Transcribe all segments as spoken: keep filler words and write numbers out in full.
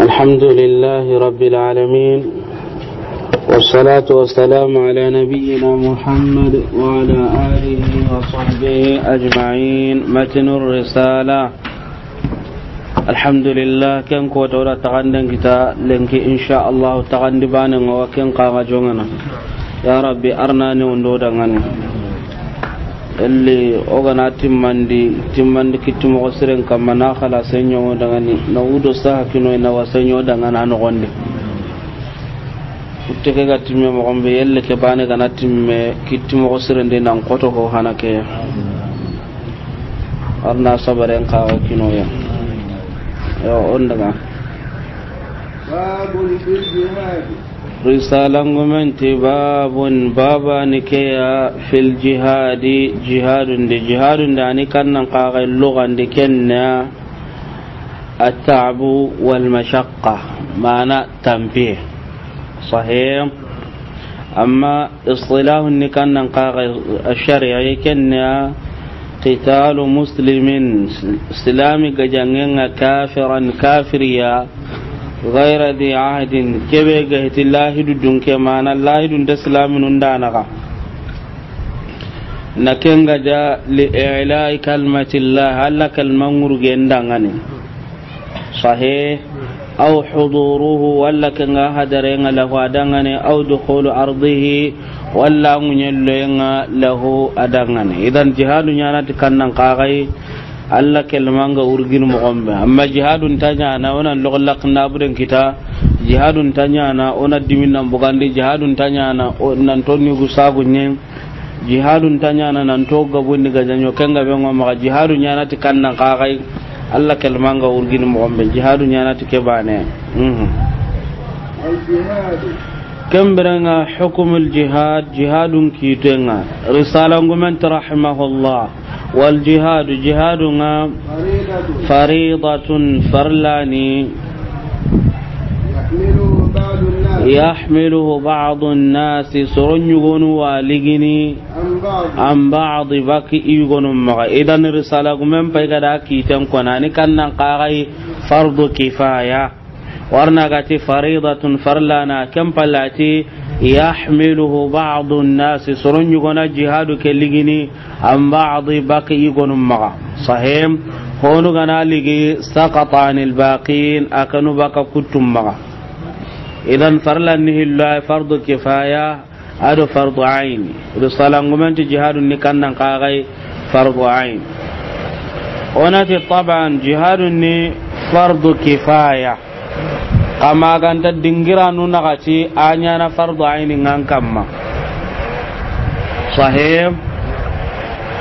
الحمد لله رب العالمين، والصلاة والسلام على نبينا محمد وعلى آله وصحبه أجمعين. متن الرسالة. الحمد لله. Ken ko tawra taxanden kita lenki, insha Allah, taxandi bane nga wa ken kaga jongana. Ya Rabbi, arna ne ondo dangane. Elli o gana timmandi, timmandi kitti moxo siren kamma, na xala senyo dangani, na wudo saha kino, na wa senyo dangana noxondi. Kutte ke ga timme moxon be, yelle ke bane gana timme kitti moxo siren de, nan koto ko hana ke. Arna sabaren kaga kinoya. Yo, on daga. باب في الجهاد. Risalangumen ti babun, babani keya, fil jihadi, jihadun di, jihadun di ani kannan kaga lugandi kenna, at-ta'bu wal mashaqqa, mana tampiye. Sahih. Amma istilahun ni kannan kaga, shari'a kenna, qitalu muslimin, silami gajangenga, kafiran, kafiriya, ghayra dhi ahdin, kebe ga hiti lahidu dunke, mana lahidun da silaminun danaga. Na kenga da li i'la'i kalmatillah, Alla kalmangurgen dangane. Sahih. Aw huduruhu, walla kenga hadarenga lahu adangane, aw dukhulu ardihi, walla ŋuɲelloyenga lahu adangane. Idan jihadu ɲanati kannan kagai, Alla kelmanga urgin moxon be. Amma jihadun ta ɲana, onan loxo laxinda buden kita. Jihadun ta ɲana, ona dimin nan bugandi. Jihadun ta ɲana, o-, nan tonni gu sagu ɲen. Jihadun ta ɲana, nan to gabundi gajaɲo, ken gabe ngo maxa. Jihadu ɲanati kannan kagai, Alla kelmanga urgin moxon be. Jihadu ɲanati ke bane. Mhm. الجهاد. Ken birenga hukumul jihad, jihadun kitenga. Risalangumen ti rahimahullah. Wal jihadu, jihadunga, فريضة. Faridatun, farlani. يحمله بعض الناس. Yahmiluhu ba'dun nasi, soro ɲugonu wa ligini. عن بعض. An ba'di, baki yugonu maxa. Idan risalagumen pay gada kiten kona ni kannan kagai fardu kifaya. Warna gati faridatun, farlana, ken pallati yahmiluhu ba'dun nasi, soron ɲugona jihadu ke ligini, an ba'di, baki yugonu maxa. Sahim. Honu gana ligi, saqata anil baqin, akanu baka kuttum maxa. Idan farlan ni hillo ay fardu kifaya, ado fardu aini. Risalangumen ti jihadun ni kannan kagai fardu ain. Onati taban jihadun ni fardu kifaya. Kama ganta dingiranu naxati a ɲana fardu aini ngan kamma. Sahih.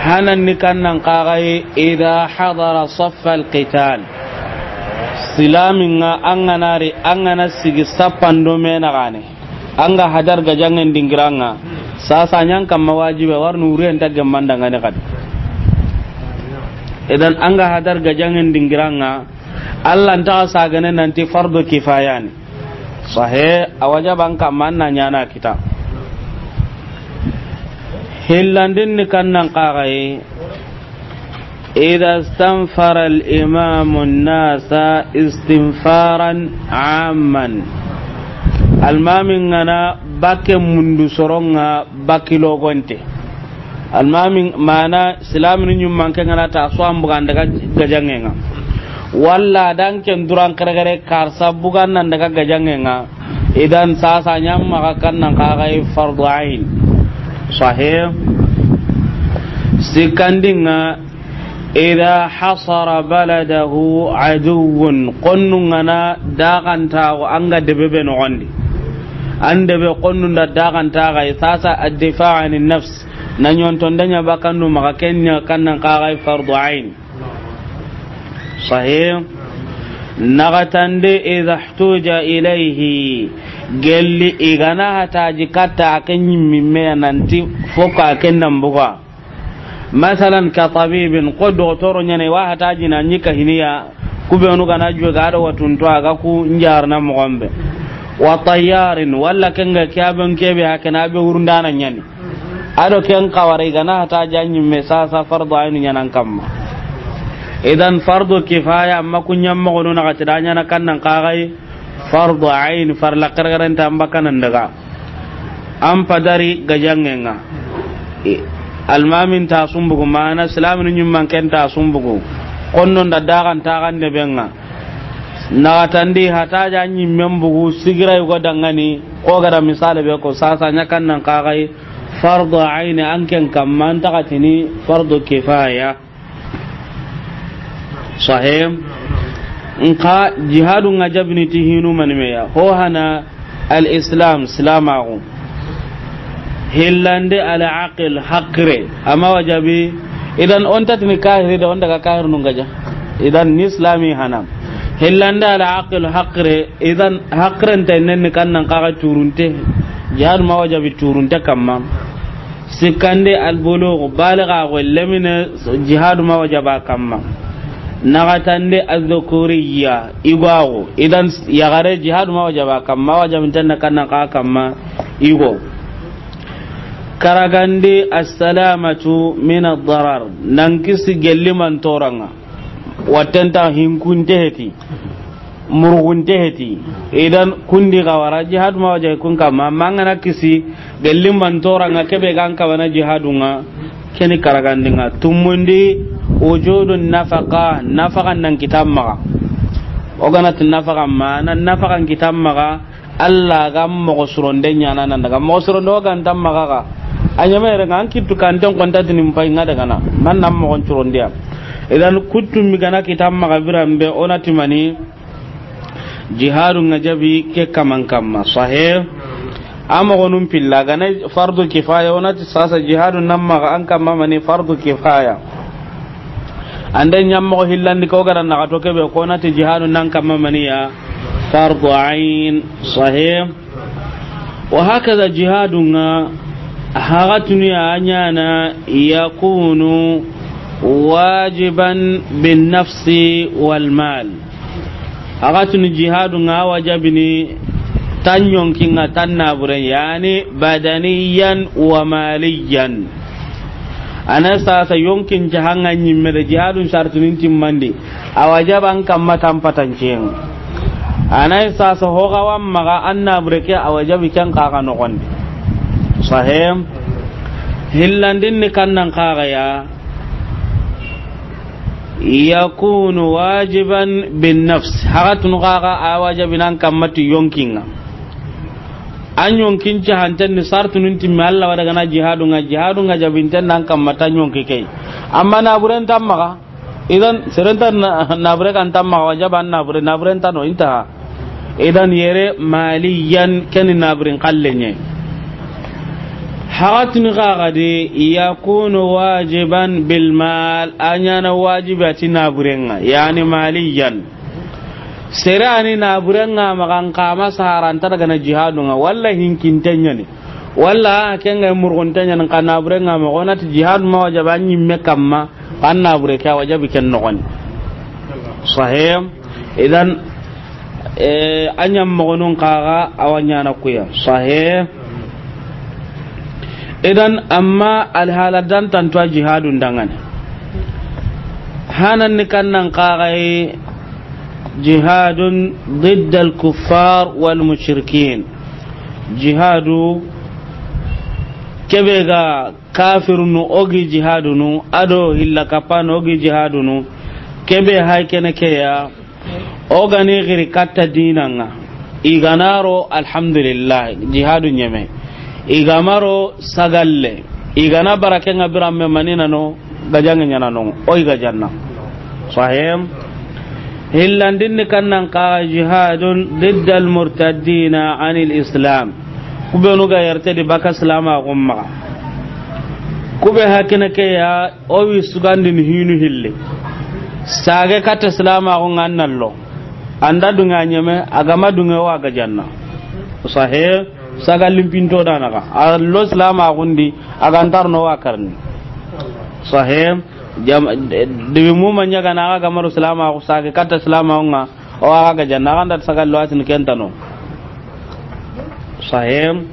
Hanan ni kannan kagai idha hadara saffal qital. Silaminga anganari angana sigi sappando me naxane. Anga hadar gajangen dingiranga, sasa ɲan kamma wajibe warnu uriyen ta gemmandangani kadi. Idan anga hadar gajangen dingiranga, Alla ntaxa sagane nanti fardu kifayani. Sahe, a wajaban kamma anna ɲana kita. Hillandin ni kannan kaxaye, إذا استنفر الإمام الناس استنفارا عاما. Almamin ŋana bakke mundu soronga bakki logonte. Almamin mana silamini ɲummanke ŋana ta so an bugan daga gajangenga. Walla dan ken duran kare kare karsa bugan nan daga gajangenga. Idan sasa ɲamma ga kannan kaxay fardu ain. Sahih. Sikkandinga, idha hasara baladahu aduwwun, qonnungana daxantaxu anga debe be noxondi. An debe qonnunda daxantaxay sasa addifa ani nafs. Na ɲontonda ɲa bakandu maxa kenya kannan kaxay fardu ain. Sahih. Naxatande idha ihtuja ilayhi, gelli igana hataji katta a ke ɲimmimeya nanti fokka a ke nambuga. Masalan ka tabibin, ko dogotoro ɲane wa hataji na ɲi kahiniya, kubenu gana juwe ga do watunto a ga ku njarna moxonbe. Wa tayyarin, walla kenga kiyaben kebe hakena be wurundana ɲani. Ado ken kawara igana hata ja ɲimme sasa fardu ainu ɲanan kamma. Idan fardu kifaya, amma ku ɲammoxonu naxati da ɲaana kannan kaxay fardu ayn, farla xerexerenta an bakanan daga. An padari gajangenga. I-, almamin ta sumbugu, mana silaminu ɲimman ken ta sumbugu. Konnon da dagan taxan de benga. Naxatandi hataja ɲimmen bugu sigira yugo dangani, ko gada misale be ko sasa ɲa kannan kaxay fardu ayn, an ken kamma an taxatini fardu kifaya. Sahih. Nka jihadu nga jabini ti hinu manimeya. Ho hana al-Islam, silamaxu. Hillande al-aqil, haqire. Ama wajabi, idan on tatini kahiri da on daga kahir nungaja. Idan ni silami hana. Hillande al-aqil, haqire. Idan haqiren ta nen ni kannan kaga turunte. Jihadu ma wajabi turunte kamma. Sikkande, albulugu, baliga go lemine, jihadu ma wajaba kamma. Nagatande, azzukuriya, igwago. Idan yagare jihadu ma wajaba kamma, wajabinten na kannan ka kamma igo. Karagandi, assalamatu min ad-darar, nan kisi gelli man toranga. Wattenta hinkunte heti. Murgunte heti. Idan kundi ga wara jihadu ma wajahi kun kamma, mangana kisi gelli man toranga kebe gan kabana jihadunga, keni karagandinga. Tumundi, wujudu nafaqa, nafaqa nan kitammaga. O ganati nafaqa ma, nan nafaqa kitammaga, Allah ga mogo suronde ɲana nan daga. Mogo suronde o gantammaga ga. A ɲamere nga an kittu kanten kontatini mpai nga daga na. Man nan mogo surondiya. Idan kuttu mi gana kitammaga birambe onati mani. Jihadu nga jabi ke kaman kamma. Sahih. Ama gonum pilla gana fardu kifaya, onati sasa jihadu nan maga an kamma mani fardu kifaya. Ande ɲammogo hillandi ko gara naga to kebe ko nati jihadu nan kamma maniya fardu ayn. Sahih. Wa hakaza jihadu nga hagatuni a ɲana yakunu wajiban bin nafsi wal mal. Hagatuni jihadu nga wajabini tan yonki nga tan nabure, yani badaniyan wa maliyan. Ana sasa yonkin jahanga nyimme de jihadun shartunin timmandi. A wajaba an kamma tan patancen. Ana sasa hoga wammaga an nabure ke a wajabi ken kaga nogondi. Sahih. Hillandin ni kannan kaga ya. Yakunu wajiban bin nafs. Hagatunu kaga a wajabi nan kamma ti yonkinga. An yonkin jahanten ni sartunun timmi Allah wada gana jihadunga, jihadunga jabinten nan kamma tan yonki kei. Amma naburen tammaga. Idan serenta na-, nabure kan tammaga wajaba an nabure, naburen tano intaha. Idan yere maliyan keni naburin kallenye. Hagatini kagadi yakunu wajiban bil mal, a ɲana wajibi ati naburenga, yani maliyan. Sere ani naburenga magan kama saharanta daga na jihadunga, walla hinkintenyani. Walla kenga murguntenyani ka naburenga magonati jihadu ma wajaba nyimme kamma, kan nabure ke a wajabi ken nogoni. Sahih. Idan, eh, a ɲammogonun kaga a wa ɲana kuya. Sahih. Idan, amma alhala dan tantuwa jihadun dangane. Hanan ni kannan kaga yi jihadun ضد الكفار والمشركين. Jihadu kebe ga kafirunu ogi jihadunu, ado hilla kapano ogi jihadunu, kebe hay kene keya, ogani giri katta dinanga. Iganaro, alhamdulillah, jihadu nyeme. Igamaro sagalle. Igana barakenga biramme manina no, gajange nyana no, oy gajanna. Sahim. Hillandin ni kannan kaga jihadun ضد المرتدين عن الإسلام. Kubenu ga yarte di baka silama gumma. Kube hakene ke ya, o wi sugandini hinu hilli. Sage katta silama gunga nallo. Anda dunga nyeme, agama dunga wa gajanna. Sahih, saga limpinto danaga. Allo silama gundi, agantar no wa karni. Sahih, jam, debi muma nyaga na aga maro silama gu sage katta silama gunga. O aga gajanna, aganda saga lo atin kentano. Sahih.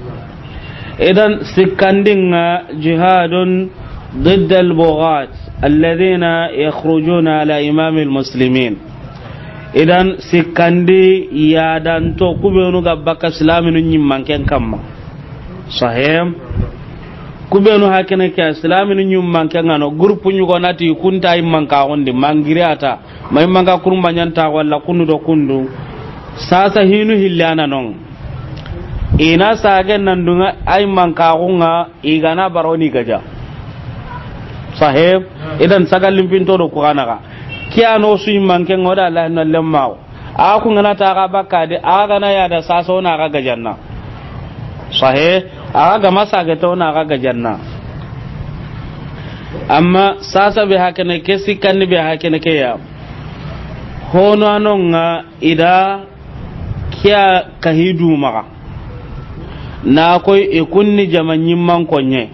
Idan sikkandinga jihadun ضد البغاة. Alladhina yakhrujuna ala imamil muslimin. Idan sikkandi yadanto kubenu ga bakka silaminu ñimmanken kamma. Sahih. Kubenu hakene ke silaminu ñimmanken ngano groupe ñugo nati kunta immanka gondi mangiri ata. Mai manga kurumba ñanta walla kundu do kundu. Sasa hinu hillana non. Ina sagen nan dunga ay manka gunga igana baroni gaja. Sahib, idan sagalin pinto do kugana ga. Kiano su manke ngoda Allah na lemmawo. A ku ngana ta ga bakka de, a gana ya da sasa ona ga gajanna. Sahib, a ga masa ga to na ga gajanna. Amma sasa be hakene ke sikkandi be hakene ke ya. Hono anonga ida kiya kahidu maga. Na koy e kunni jama ñimman konye.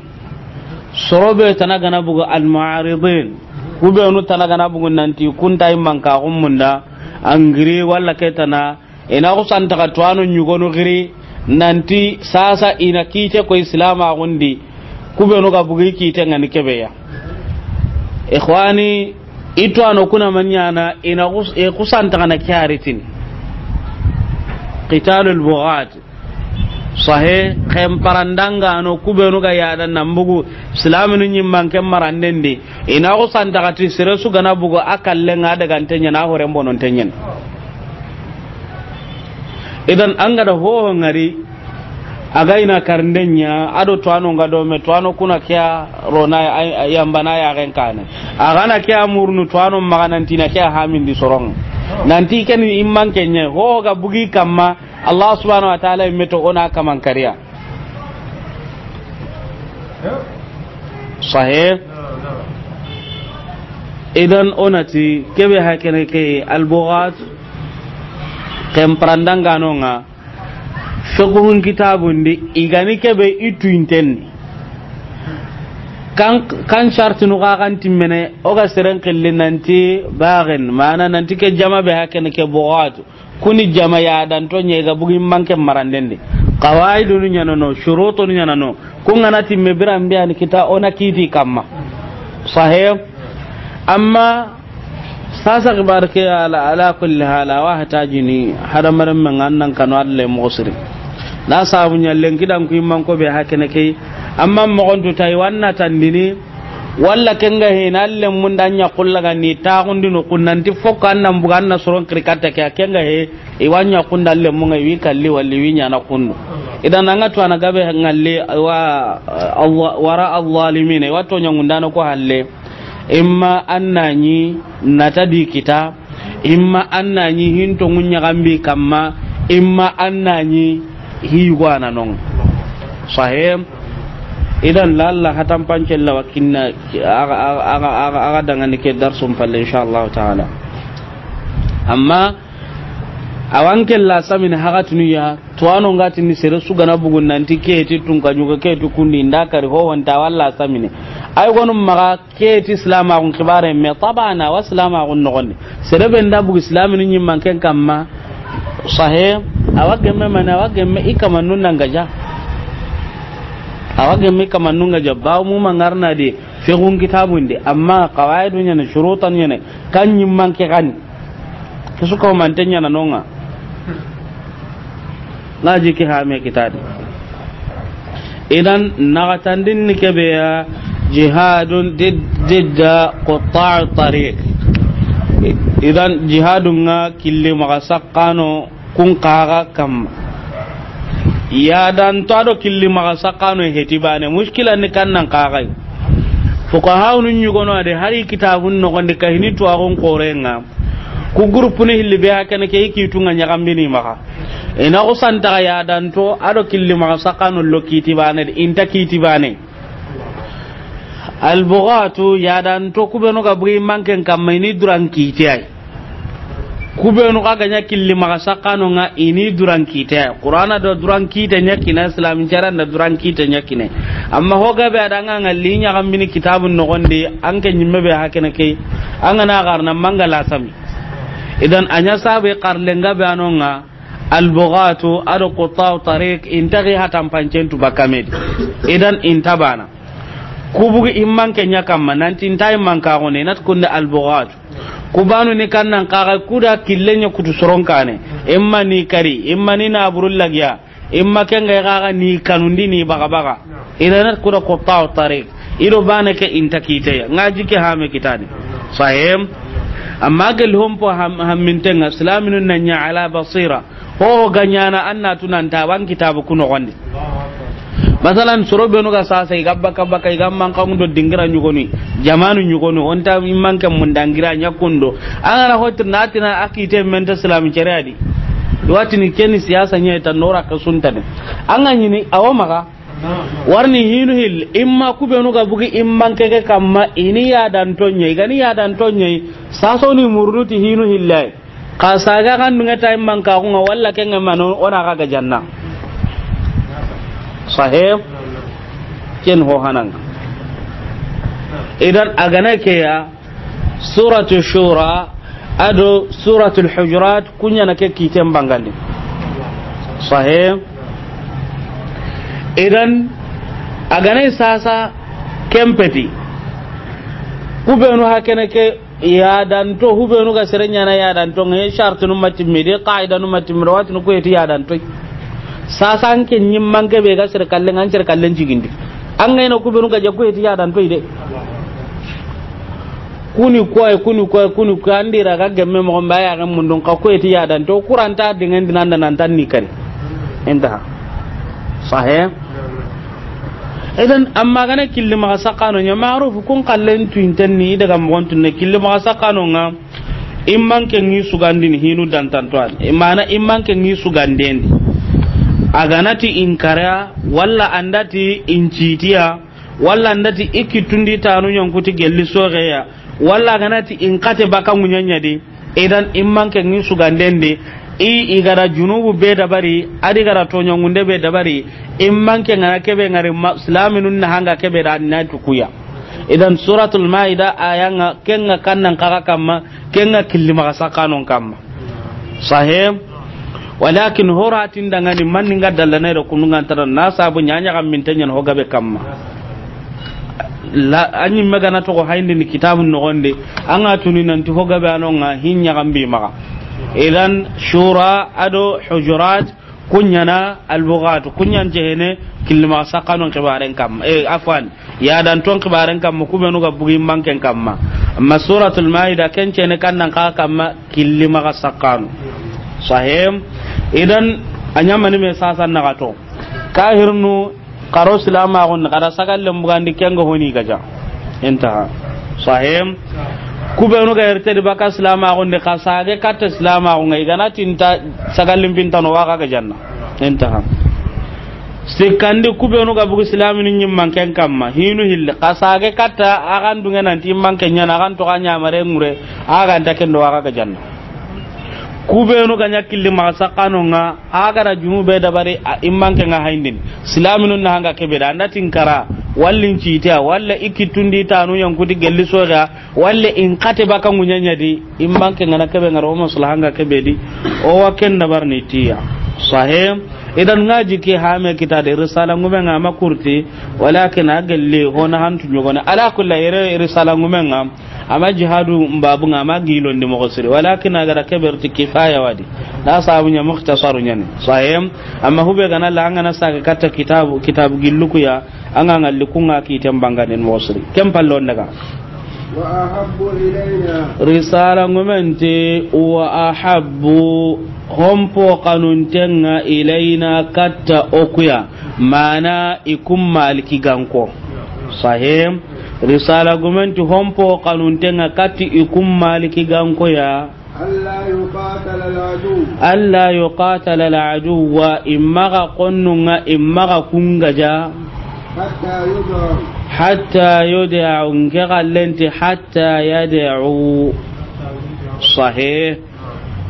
Sorobe tana gana bugu almuaridin. Kubenu tana gana bugu nanti kunta immanka gummunda. Angiri walla ke tana. Ina kusanta ka tuwano ñugonu giri. Nanti sasa ina kite ko islama gundi. Kubenu ga bugu kite ngani kebeya. Ikhwani, ito ano kuna manyana ina kus-, e kusanta kana kyaritin. Qitalul bughat. Sahe, kem parandanga ano kubenu ga yada nambugu, silaminu ñimman kem marandendi. Ina kusanta kati sere su gana bugu a kallenga daga ntenyen, a horen bonon tenyen. Idan an ga da hoho ngari, a ga ina karndenya, ado tuwano nga do me, tuwano kuna kiya rona, ay, ay, yambana ya gen kane. A ga na kiya murnu tuwano maga nanti na kiya hamindi sorong. Nanti ken imman kenye, hoho ga bugi kamma, Allah subhanahu wa ta'ala imeto ona kaman kariya. Sahih. Idan onati kebe hakene ke albugat kem parandanga nonga. Fiqhun kitabundi igani kebe itu intenni. Kan, kan shartinu ga kan timmene, o ga seren qilli nanti bagen, mana nanti ke jama be hakene ke bugatu. Kuni jama yadanto ñe ga bugi manke marandendi. Qawaidunu ñanano, shurutunu ñanano. Kungana timme biran biyani kita ona kiti kamma. Sahih. Amma sasa xibar ke ala, ala kulli hala wa hatajini hadamaren men annan kanu alle mosiri. Na sabu ñallen kidan ku imman ko be hakene kay. Amma mogontu tay wanna tandini. Walla kenga he na lemmunda ña kullaga ni taxundi no kunnanti fokka annan buga anna soron kirkatta ke kenga he. Iwa ña kunda lemmunga iwi kalli walli wi ñana kundu. Idan anga to ana gabe ngalli wa Allah, wara alzalimina, iwa to ñangundana ko halle. Imma annani nata di kita, imma annani hinto ngunya gambi kamma, imma annani hiyugo ana non. Sahih. Idan lalla hatan pancella wakinna aga, aga, aga, aga, aga dangani ke darsum palle insha Allah ta'ala. Amma awan kella samini hagatinu ya, tuwano ngatini sere sugana bugun nanti keti tunka ñuga keti kundi nda kari ho wanta walla samini. Ay gonu maga keti islama gun kibare me tabana wa islama gun nogondi. Sere be nda bugu islamini ñimman ken kamma. Sahe, awa gemme mani, awa gemme i kamannun nanga ja. Awa gemme i kamannun nga ja, bawo mu mangarna di, fiqhun kitabundi, amma qawaidu ñene, shurutan ñene, kan ñimman ke gani. Kesu ko mante ñana nonga. Ngaji ke hame kitadi. Idan nagatandin ni kebeya jihadun did-, didda quttar tariq. Idan jihadun nga killi maga sakkano kun kaga kamma. Ya dan to ado killi maga sakkano heti bane mushkila ni kannan kagai. Fuqahaunu ñugono ade hari kitabun nogondi kahini tuwaxun korenga. Ku groupe ni hilli be hakene ke i kitunga ñagambini maxa. Ina xusantaxa yadanto ado killi maxa saxano lo kiti bane de, inta kiti bane. Albugatu yadanto kubenu ga bugi manken kamma ini duran kiti ay. Kubenu xa ga ña killi maxa saxano nga ini duran kite. Qur'ana do duran kite ña kine, islami caran da duran kite ña kine. Amma ho gabe adanga nga li ñagambini kitabun nogondi, anke ñimme be hakene ke, anga na garna manga la sami. Idan anya sabe qarle nga be anonga, albugatu ado qutau tariq, intagi hatan pancentu bakamedi. Idan intabana. Ku bugi i manke ɲa kamma, nanti nta i manka xo ne, nat kunde albughatu. Ku banu ni kannan kaga kuda kille ɲa kutu soron kane. I ma ni kari, i ma ni naburu lagiya, i ma kenga i gaga ni kanundi ni baga baga. Ida nat kuda qutta'u tariq. I do bane ke inta kiteya. Nga jike hame kitani. Sahim. Amma gel hompo ham-, hammintenga, silaminu na ɲa ala basira. Ho ga ɲana an na tunanta wan kitabu kuno gondi. Masalan, soro benu ga sasa, i ga baka baka, i ga mankangu do dingira ɲugoni, jamanu ɲugoni, onta i manke mun dangira ɲa kundo. An ga na hotir na tina a kite menta silami cere adi. Watini keni siyasa ɲa ta nora ka suntane. An ga ɲini, awo maga. Warni hinu hil, i ma ku benu ga bugi i manke ke kamma, i ni yadanto ɲa, i ga ni yadanto ɲa, saso ni murunu ti hinu hillai. Xa saga kan dunga tay manka xunga walla kenga mano ona ga ga janna. Sahih. Ken ho hananga. Idan a ga na ke ya suratu shura ado suratul hujurat kunya na ke kiten bangandi. Sahih. Idan a ga na sasa kempeti. Ku benu hakene ke yadanto, hubenu ga sere ɲana yadanto, nge shartunu matimmidi, qaidanu matimmidi, watinu ku heti yadanto. Sasa an ke ɲimman ke be ga sere kallen, an sere kallen jigindi. An ga ina kubenu ga ja ku heti yadanto ide. Kuni koy, kuni koy, kuni koy, andira ga gemme mo mba ya ga mundun ka ku heti yadanto, kuranta dingen dinanda nan tan ni kari. Intaha. Sahih. Idan, amma gana killi maxa sakano ɲa, maruf kun kallen tuinten ni daga moxon tunne killi maxa sakano nga. Imman ke ngi sugandini hinu dantantoan, imana imman ke ngi sugandendi. A ganati inkara, walla andati incitiya, walla andati ikitundi tanu ɲankuti gelli soxeya, walla ganati inkate baka ŋuɲaɲadi. Idan imman ke ngi sugandendi, i igara junubu be dabari, adi gara toɲangunde be dabari, imman ke ngana kebe ngari ma-, silaminun na hanga kebe da na tukuya. Idan suratul maida ayanga kenga kannan kaga kamma, kenga killi maxa sakanon kamma. Sahih. Walakin horatin dangani manni nga dalla na ira kununga ntara na sabu ɲaɲa kam min tanyan ho gabe kamma. La, anyi megana to ko hayndi ni kitabun no gonde, anga tuni nanti ho gabe anonga hinya gambi maga. Idan shura ado hujurat kunyana albughat kunyan jehene kilma sakanon kibaren kam. E, afwan, ya dan ton kibaren kam kubenu ga bugi manken kamma. Amma suratul maida kencene kannan ka kamma kilima ga sakano. Sahim. Idan anyamani me sasa nagato. Kahirnu karo silamaxun ni, xara sagallen bugandi kenga honi gaja. Intaha. Sahim. Kubenu ga ertedi baka silamaxun di, xa sage katta silamaxun ga, igana tinta sagallin pintano waxa gajanna. Intaha. Sikkandi kubenu ga bugu silaminu ɲimman ken kamma, hinu hilli, xa sage katta axan dunge nanti imman ken ɲana, axan toxa ɲamare ŋure, axanta kendo waxa gajanna. Kubenu ga ɲa killi maxa sakanonga, a gara junube dabari, a immanke nga hayndin. Silaminu na hanga kebe da, anda tinkara, wallin citea, walla ikitundi tanu yankuti gelli soya, walla in kate baka ŋuɲaɲa di, immanke ngana kebe ngara o masula hanga kebe di, o wa ken dabar ni tiya. Sahih. Idan ngaji ke hame kita de risala ngume nga makurti, walakin a gelli hona hantu ɲogone. Ala kulli yere risala ngume nga, ama jihadu mbabu nga, ama gilondi moxo siri. Walakin a gara keberti kifaya wadi. Na sabu ɲa mukhtasaru ɲani. Sahih. Amma hube gana la angana saga katta kitabu, kitabu gillukuya, anga ngalli kunga kiten banganen moxo siri. Ken pallon daga. وأحب إلينا. Risala ngumenti wa ahabbu hompo kanuntenga ilaina katta okuya. Mana ikum maliki ganko. Sahih. Risala gumenti hompo kanuntenga katti ikum maliki ganko ya. ألا يقاتل العدو. ألا يقاتل العدو. Imaga konnunga, imaga kungaja. حتى يدعوا. حتى يدعوا. Nke gallenti حتى يدعوا. Sahih.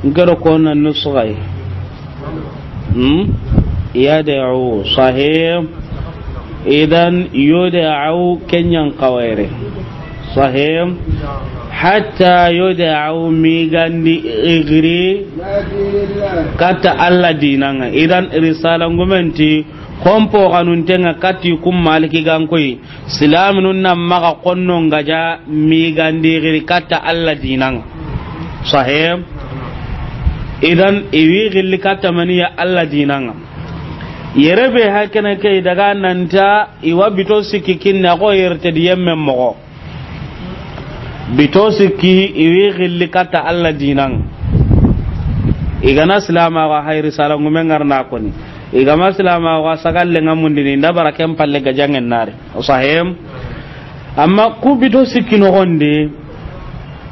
Nke do konna nusgay. Hmm? يدعوا. Sahih. Idan يدعوا kenyan kawere. Sahih. حتى يدعوا migandi igri. إلى دين الله. Katta Allah dinanga. Idan risala ngumenti Xonpo xanuntenga kati kun maliki gankoyi, silaminun na maxa konnon gaja migandi xiri katta Alla dinanga. Sahe? Idan, iwi xilli katta maniya Alla dinanga. Yere be hakene ke daga nanta iwa bito sikki kinna ko yerte di yemme moxo. Bito sikki iwi xilli katta Alla dinan. Igana silama ga hayri sala ngume ngarna koni. Igama silama ga sagalle ngamundini nda bara ken palle gajangen nari. O sahem. Amma ku bito sikki noxondi.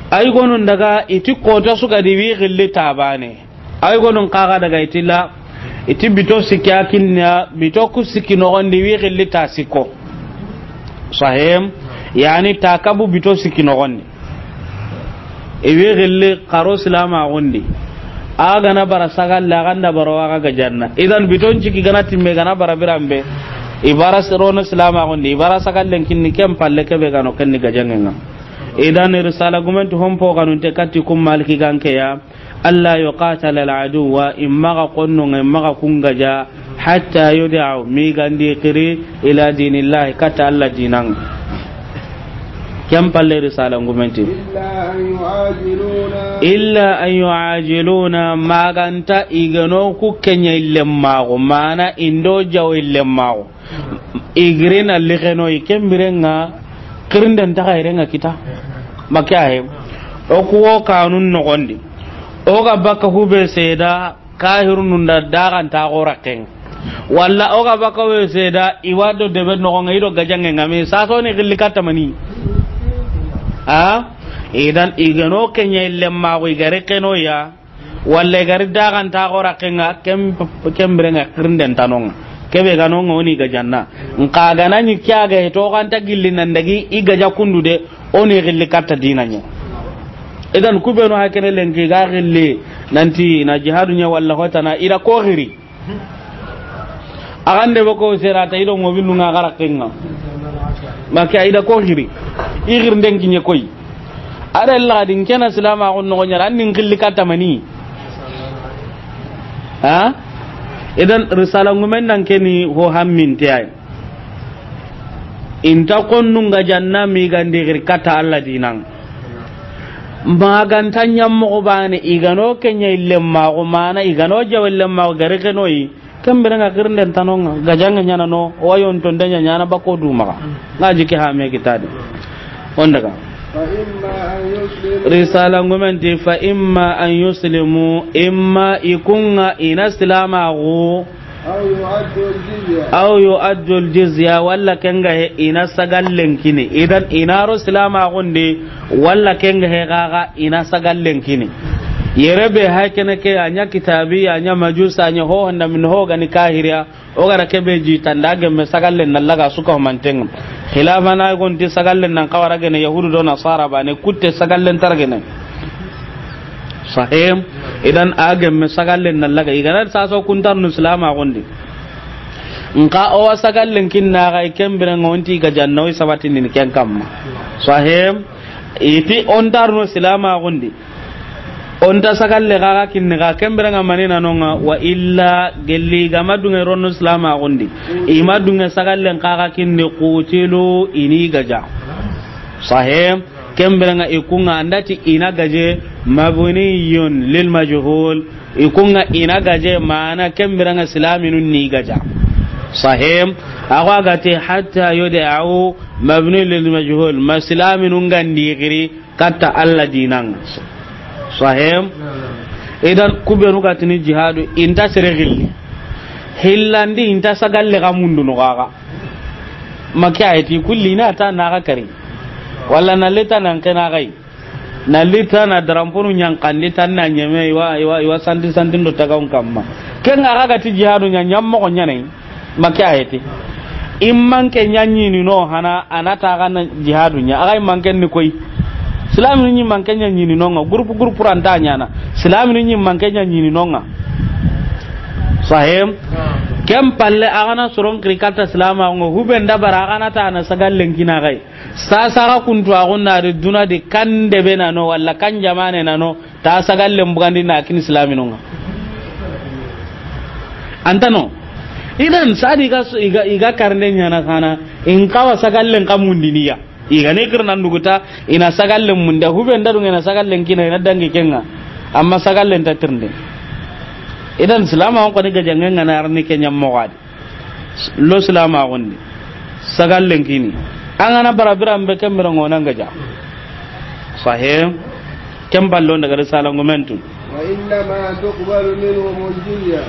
Ay gonun daga iti kota suga di wi xilli tabane. Ay gonun kaga daga itilla, iti bito sikki a kinna, bito ku sikki noxondi wi xilli ta sikko. Sahem, yani ta kabu bito sikki noxondi. Iwi xilli xaro silama gundi. A gana bara sagalle, a ganda bara waga gajanna. Idan biton ciki gana timme gana bara birambe. Ibara sirono silama gundi, ibara sagallen kinni ken palle kebe gano kenni gajangenga. Idan risala gumenti hompo ganunte kati kum maliki ganke ya. Alla yuqatala al-aduwa, immaga konnonga, immaga kungaja, hatta yud'u, migandi xiri, ila dinillahi, kata Alla dinan. Ken palle risala ngumenti. Illa an yu'ajiluna. Illa an yu'ajiluna, maganta igano ku kenya illemmago, mana indo jawo illemmago. Igirina lixeno i kembirenga, xirinden taxa irenga kita. Make ahe. O kuwo kanun noxondi. O ga baka hube seda kahirunun da daxanta xo raxen. Walla o ga baka hube seda iwa do debe noxonga ido gajangenga me sasoni xilli katta mani. A? Idan igano kenya illemmago igare keno ya. Walla gari daxanta xo raxenga kem-, kembirenga xirinden tanonga. Kebe ganonga oni gajanna. Nka ganani kya ga to ganta gilli nan dagi i gaja kundu de oni xilli katta dinanya. Idan kubenu hakene lenki ga xilli nanti na jihadu nya walla hotana ida ko xiri. Agande boko serata ido ngobinunga xara kenga. Make aida ko xiri. I xirinden kinye koy. Ada illa din kena silama gon no nyara annin xilli katta mani. Ha? Idan risala ngumen nan keni ho hammin te ay. Inta konnunga janna migandi xiri katta Alla dinan. Maganta nyammo bane igano kenya illemmago mana igano jawo illemmago gari kenoyi. Kembirenga xirinden tanonga gajange nyana no wayon to ndenya nyana bako du maga. Ngaji ke ha me kitadi. Ondaga. Fa imma an yuslimu. Risala ngumenti fa imma an yuslimu, imma ikunga ina silamago. Aw yu'addu al-jizya. Aw yu'addu al-jizya, walla kenga he ina sagallen kini. Idan inaro silamagundi, walla kenga he gaga ina sagallen kini. Yere be hakene ke anya kitabi, anya majusa, anya ho handa min ho gani kahiriya. O gara kebe ji tanda gemme sagallen na laga suka mantenga. Khilafana gonti sagallen nan kawara gene yahudu do nasara bane kutte sagallen targene. Sahim. Idan a gemme sagallen na laga igana saso kuntarnu silamagundi. Nka o wa sagallen kinna ga kembira ngonti ga janna o sabatindini ken kamma. Sahim. Iti ontarnu silamagundi. Onta sagalle gaga kinni ga kembira nga manina nonga wa illa gelli gama dunga ronno silamagundi. Ima dunga sagallen kaga kinni kutilu ini gaja. Sahim. Kembira nga ikunga andati ina gaje mabniyun lil majhul. Ikunga ina gaje mana kembira nga silaminun ni gaja. Sahim. Awa gati hatta yud'u mabni lil majhul ma silaminun gandi giri katta Allah dinan. Sahim. Idan kubenu gatini jihadu inta sere gilli hillandi inta sagalle ga mundu no gaga. Maki ayati kulli na ta na ga kari wala na leta nan kena gai. Na lita na daramponu ñankandi tan na ñeme iwa, iwa, iwa santi santin do tagawun kamma. Ken ga ga ti jihadu ña ñammoxo ñanay. Make ayeti. Immanke ñañini no hana anata ga na jihadu ña. Aga immanke ni koy. Silaminu ñi manke ñañini no nga groupe groupe ranta ñana. Silaminu ñi manke ñañini no nga. Sahim. Kem palle aga na soron kiri katta silama ngo huben dabara aga na ta na sagallen kina gai. Sasa ga kuntu a gunna di duna di kan debe na no walla kan jamane na no ta sagallen bugandi na kin islaminunga. Antano Idan sadi ga su-, iga, iga karne ɲana xana, in xawa sagallen xa mundini ya. Iga ne kirnan duguta, ina sagallen munda, hube nda dunga ina sagallen kina, ina dangi kenga. Amma sagallen ta tirnde. Idan silama on koni gajangen ŋa na arni kenya mogadi. Lo silama gondi. Sagallen kini. An gana bara biran be kembira ŋonan gaja. Sahih. Ken ballon daga risala ngumentu. وإنما تقبل منهم الجزية.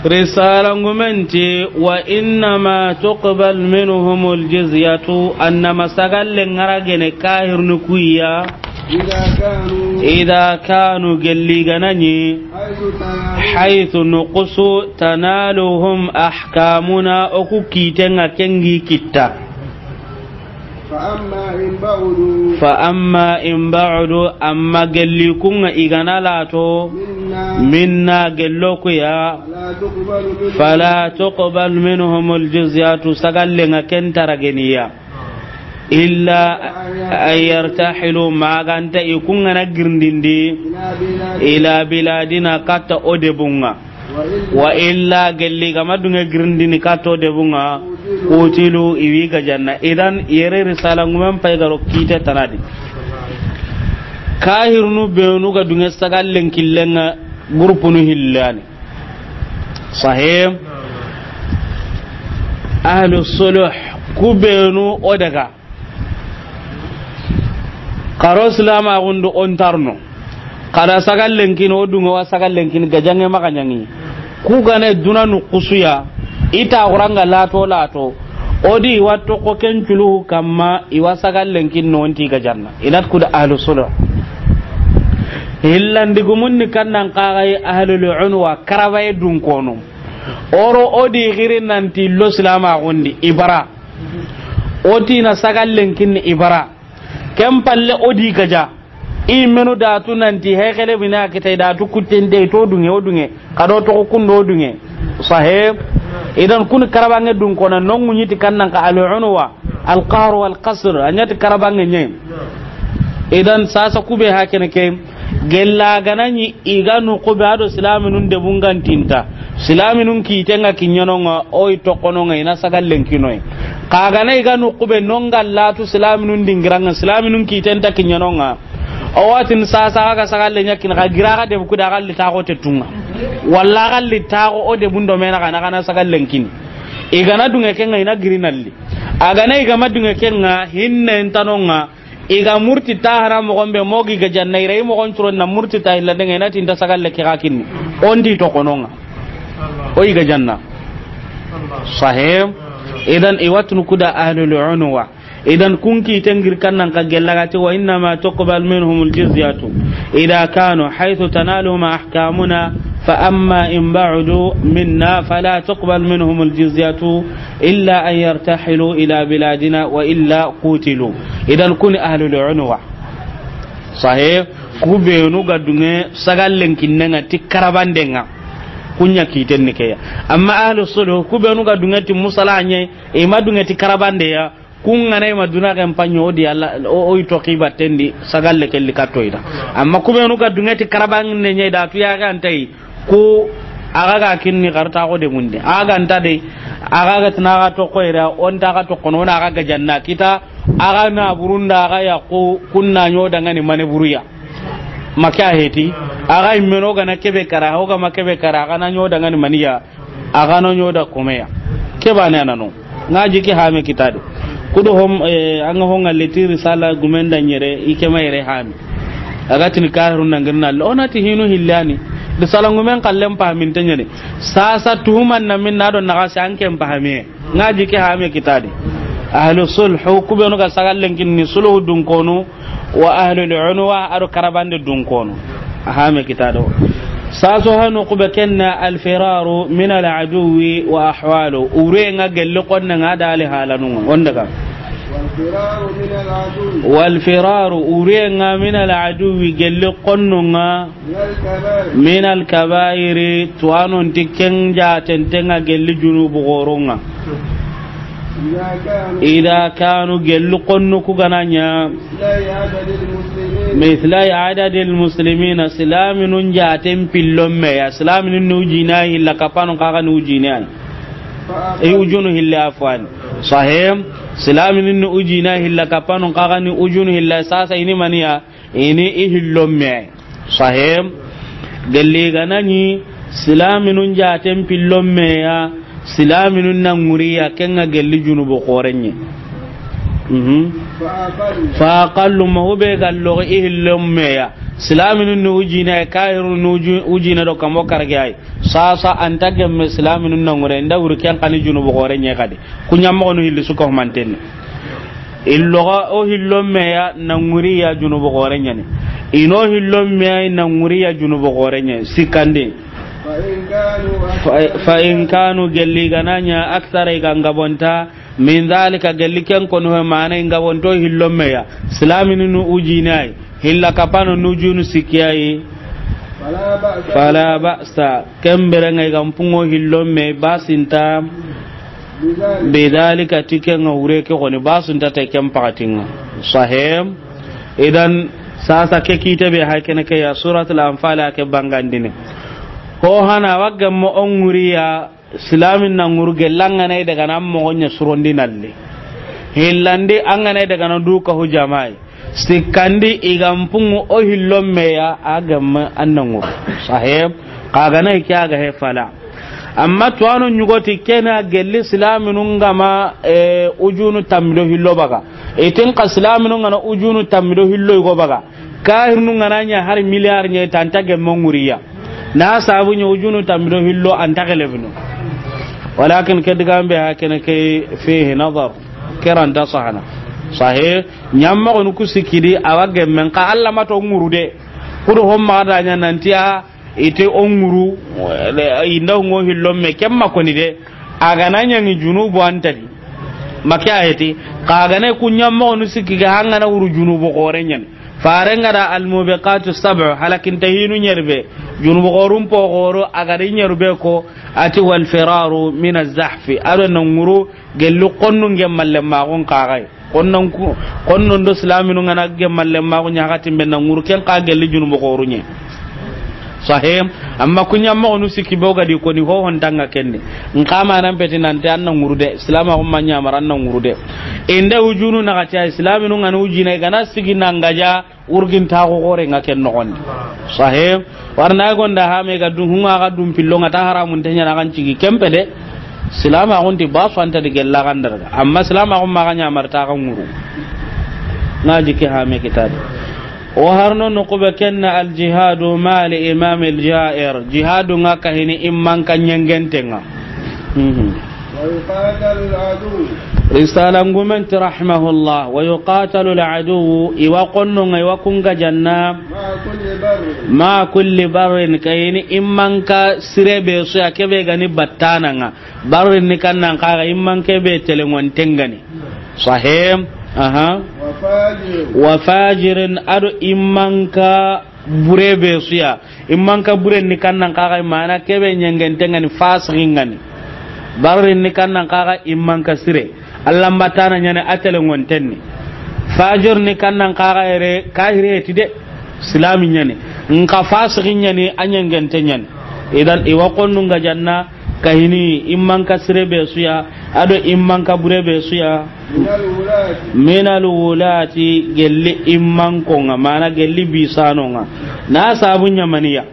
Risala ngumenti, وإنما تقبل منهم الجزية, annama sagalle ŋaragene kahirnu kuya. إذا كانوا. إذا كانوا, gelli ganani. حيث تنالهم. حيث nukusu, تنالهم أحكامنا, oku kitenga kengi kitta. فأما إن بعدوا. فأما إن بعدوا, amma gelli kunga igana lato. منا. Minna, gello kuya. فلا تقبل منهم. فلا تقبل منهم الجزية, sagallenga kentara geniya. إلا أن يرتحلوا, maganta ikunga na girndindi. إلى بلادنا. إلى بلادنا, katta o debunga. Wa illa, gelli gama dunge girindini kato debunga, kutilu, iwi gajanna. Idan, yere risala ngumen pay garo kite tanadi. Kahirnu benu ga dunge sagallen killenga, gurupunu hillani. Sahih. Ahlu suluh, ku benu o daga. Karo silama gundu on tarno. Kada sagallen kini o dunga wa sagallen kini gajange maga ɲangi. Ku gane duna nu kusuya. Ita guranga lato lato. Odi watto ko ken culu kamma iwa sagallen kini no onti gajanna. Inat kuda ahlu suluh. Hillandi gumunni kannan kagai ahlul unwa karabaye dun kono. Oro odi giri nanti lo silama gundi ibara. Oti na sagallen kinni ibara. Ken palle odi gaja. I menu datu nanti hekele bina kita datu kutten de to dunge o dunge. Kado to kundo o dunge. Sahib. Idan kun karabange dun kona nongu nyiti kannan ka al unwa, al qahr wal qasr. Anyati karabange nye. Idan sasa kube hakene ke. Gella gananyi iga nu kube ado silaminun de bungantinta. Silaminun kitenga kinyanonga, oi tokononga ina sagallen kinoi. Kagana iga nu kube nonga latu silaminun dingiranga, silaminun kitenta kinyanonga. O watin sasa aga sagalle nyakin ka gira ga de buku da galli tago te tunga. Walla galli tago o de bundo mena kana kana sagallen kini. Igana dunge kenga ina girinalli. Agana igama dunge kenga hinne entanonga. Iga murti ta hana mogon be mogi ga janna ira i mogon curo na murti ta illa denga ina tinta sagalle ke ga kinni. Ondi to kononga. O iga janna. Sahih. Idan iwatun kuda ahlul unwa. Idan kun kiten gir kannan ka gellagati wa innama tuqbal minhumul jizyatu idha kanu haythu tanaluhum ahkamuna fa amma in ba'udu minna fala tuqbal minhumul jizyatu illa an yartahilu ila biladina wa illa qutilu. Idan kuni ahlul unwa. Sahih, ku benu ga dunge sagallen kinnenga ti karabandenga. Kunya kiten ni keya. Amma ahlu suluh, ku benu ga dunge ti musalanye, ima dunge ti karabandeya, kungana ima duna ken panyo di Allah, o, o ito kibatendi, sagalle kelli katoida. Amma ku benu ga dunge ti karabande nye da tu ya ga antai, ku aga ga kinni garta ko de munde. Aga anta de, aga ga tna ga to koira, on ta ga to kono, na aga ga janna kita, aga na burunda, aga ya ku, kunna nyo dangani mane buruya. Maka heti, aga imeno gana kebe kara, hoga ma kebe kara, aga na nyo dangani maniya, aga no nyo da komeya. Keba ne anano. Nga jiki hame kitade. Kudo hom, eh, anga honga leti risala gumenda nyere, ikema yere hame. Aga tini kahirun nangirna, onati hinu hillani. Risala ngumen kallem pahamin tenyene. Sasa tuhuman na min na do naga se anke pahamiye. Nga jiki hame kitade. Ahlu sulhu, ku benu ga sagallen kinni sulhu dun kono, wa ahlul unwa, ado karabande dun kono. Hame kitado. Saso hanu kube kenna al firaru min al aduwi wa ahwalu. Ure nga gelle konna nga dali halanunga. Onda ka. والفرار من العدو. والفرار, ure nga min al aduwi gelle konnunga. من الكبائر. Min al kabairi, tuwanon ti ken jatentenga gelli junubu goronga. إذا كانوا. Ida kanu gelli konnu ku gananya. مثلي عدد المسلمين. Mithlai adadil muslimina, silaminun jaten pillon me ya, silaminun ni ujinai, illa kapanu kaga ni ujinai. I ujunu hilla, afwan. Sahih. Silaminun ni ujina hilla, kapanun xa ga ni ujunu hilla, sasa i ni maniya, i ni i hillon me. Sahih. Gelli ga na ni silaminun jaten pillon me ya, silaminun na ŋuriya, ken ŋa gelli junubu xorenye. Mhm. Fa aqallu ma hube ga loxo i hillon me ya. Silaminun ni ujina, kahirun ni uju-, ujina do kamo karage ay. Sasa an ta gemme silaminun na ŋure, i nda wuri ken xa ni junubu xorenye xadi. Ku ɲa moxonu hilli su ka humantenni. I loxo o hillon me ya na ŋuriya, junubu xorenyani. I no hillon me ya na ŋuriya, junubu xorenye. Sikkandi. Fa, fa in kanu, gelli ga na ɲa, akthara, i ga ŋa bonta, min dhalika, gelli ken koni ho, mana i ŋa bonto hillon me ya. Silaminun ni ujina yi. Hilla kapano ni ujunu sikki ya yi. Fala ba'sa. Ken bire ŋa i ga mpungo hillon me, basi nta. Bidhalika, ti ken ŋa wure ke xoni, basi nta te ken pakatin ŋa. Sahih. Idan, sasa ke kite be hay kene ke ya, Suratul Anfal a ke bangandini. Ho hana wa gemmo o ŋuriya, silamin na ŋuru gella, an ga na i daga na moxo ɲa surondi nalle. Hillandi, an ga na i daga na du ka hu jamai. Sikkandi, i ga mpungu o hillon me ya, a gemme an na ŋuru. Sahih. Xa ga na i ke a ga he fala. Amma tuwano ɲugoti kena gelli silaminun ga ma, eh, ujunu tammi do hillo baga. I tin xa silaminun ga na ujunu tammi do hillo i go baga. Kahirnun ga na ɲa hari milliard ɲa, i ta an ta gemme ŋuriya. Na sabu ɲa ujunu tammi do hillo an ta gelebinu. Walakin ke digan be ha kene ke fihi nazar. Ke ra nta sahana. Sahih. Ɲamma xonu ku sikkidi, a wa gemmen xa Alla ma to ŋuru de. Kudo homma da ɲa nanti a, i te o ŋuru, i nda ŋo hillon me, ken ma koni de. A ga na ɲaŋi junubu an ta di. Ma ke a heti, xa ga na ku ɲamma xonu sikki ga, an ga na wuru junubu xorenyani. Faren ga da al-mubiqatu sab'u, halakinta hinu ɲeri be. Junubu xorun po xoro, a ga da i ɲeri be ko, a ti wal firaru min az-zahfi. A do na ŋuru, gelli xonnun gemmalle maxun xa ga yi. Xonnon ku, xonnon do silaminun ga na gemmalle maxu ɲa xatin be na ŋuru, ken xa gelli junubu xoruɲe. Sahih. Amma ku ɲamma xonu sikki be o ga di koni ho hon ta ŋa kenni. Nxa ma nan peti nanti an na ŋuru de, silamaxun ma ɲamara an na ŋuru de. I nda ujunu naxati ya, silaminun ga na ujina, i ga na sigi na ŋa ja, wurgintaxu xoore ŋa ken noxondi. Sahih. Warna gonda hame ga dun, hunga ga dun pillo ŋa, ta haramun te ɲana kan cigi kempe de. Silamaxun ti basu an ta di gella kan darga. Amma silamaxun ma ga ɲamarta ga ŋuru. Ŋa jiki hame kitadi. O harno no kube kenna al jihadu ma li imam al jair. Jihadu ŋa kahini imman ka ɲengente ŋa. Mhm. ويقاتل العدو. Risala ngumenti rahimahullah, ويقاتل العدو, i wa xonno ŋa, i wa ku ŋa janna. مع كل بر. مع كل بر, kayini imman ka sire be su ya, ke be ga ni battana ŋa. Barrin ni kannan xa ga, imman ke be telengonten ga ni. Sahih. Aha. وفاجر. وفاجر, a do imman ka bure be su ya. Imman ka buren ni kannan xa ga, mana ke be ɲengenten ga ni, fasiqin ga ni. Barrin ni kannan xa ga, imman ka sire. Alla mbatana ɲa ni, a telengonten ni. Fajir ni kannan xa ga yere, kahire ti de. Silami ɲa ni. Nxa fasiqin ɲa ni, a ɲengente ɲa ni. Idan, i wa xonnu ŋa janna, kahini imman ka sire be su ya, a do imman ka bure be su ya. من الولاة. من الولاة, gelli imman ko ŋa, mana gelli bisano ŋa. Na sabu ɲa mani ya.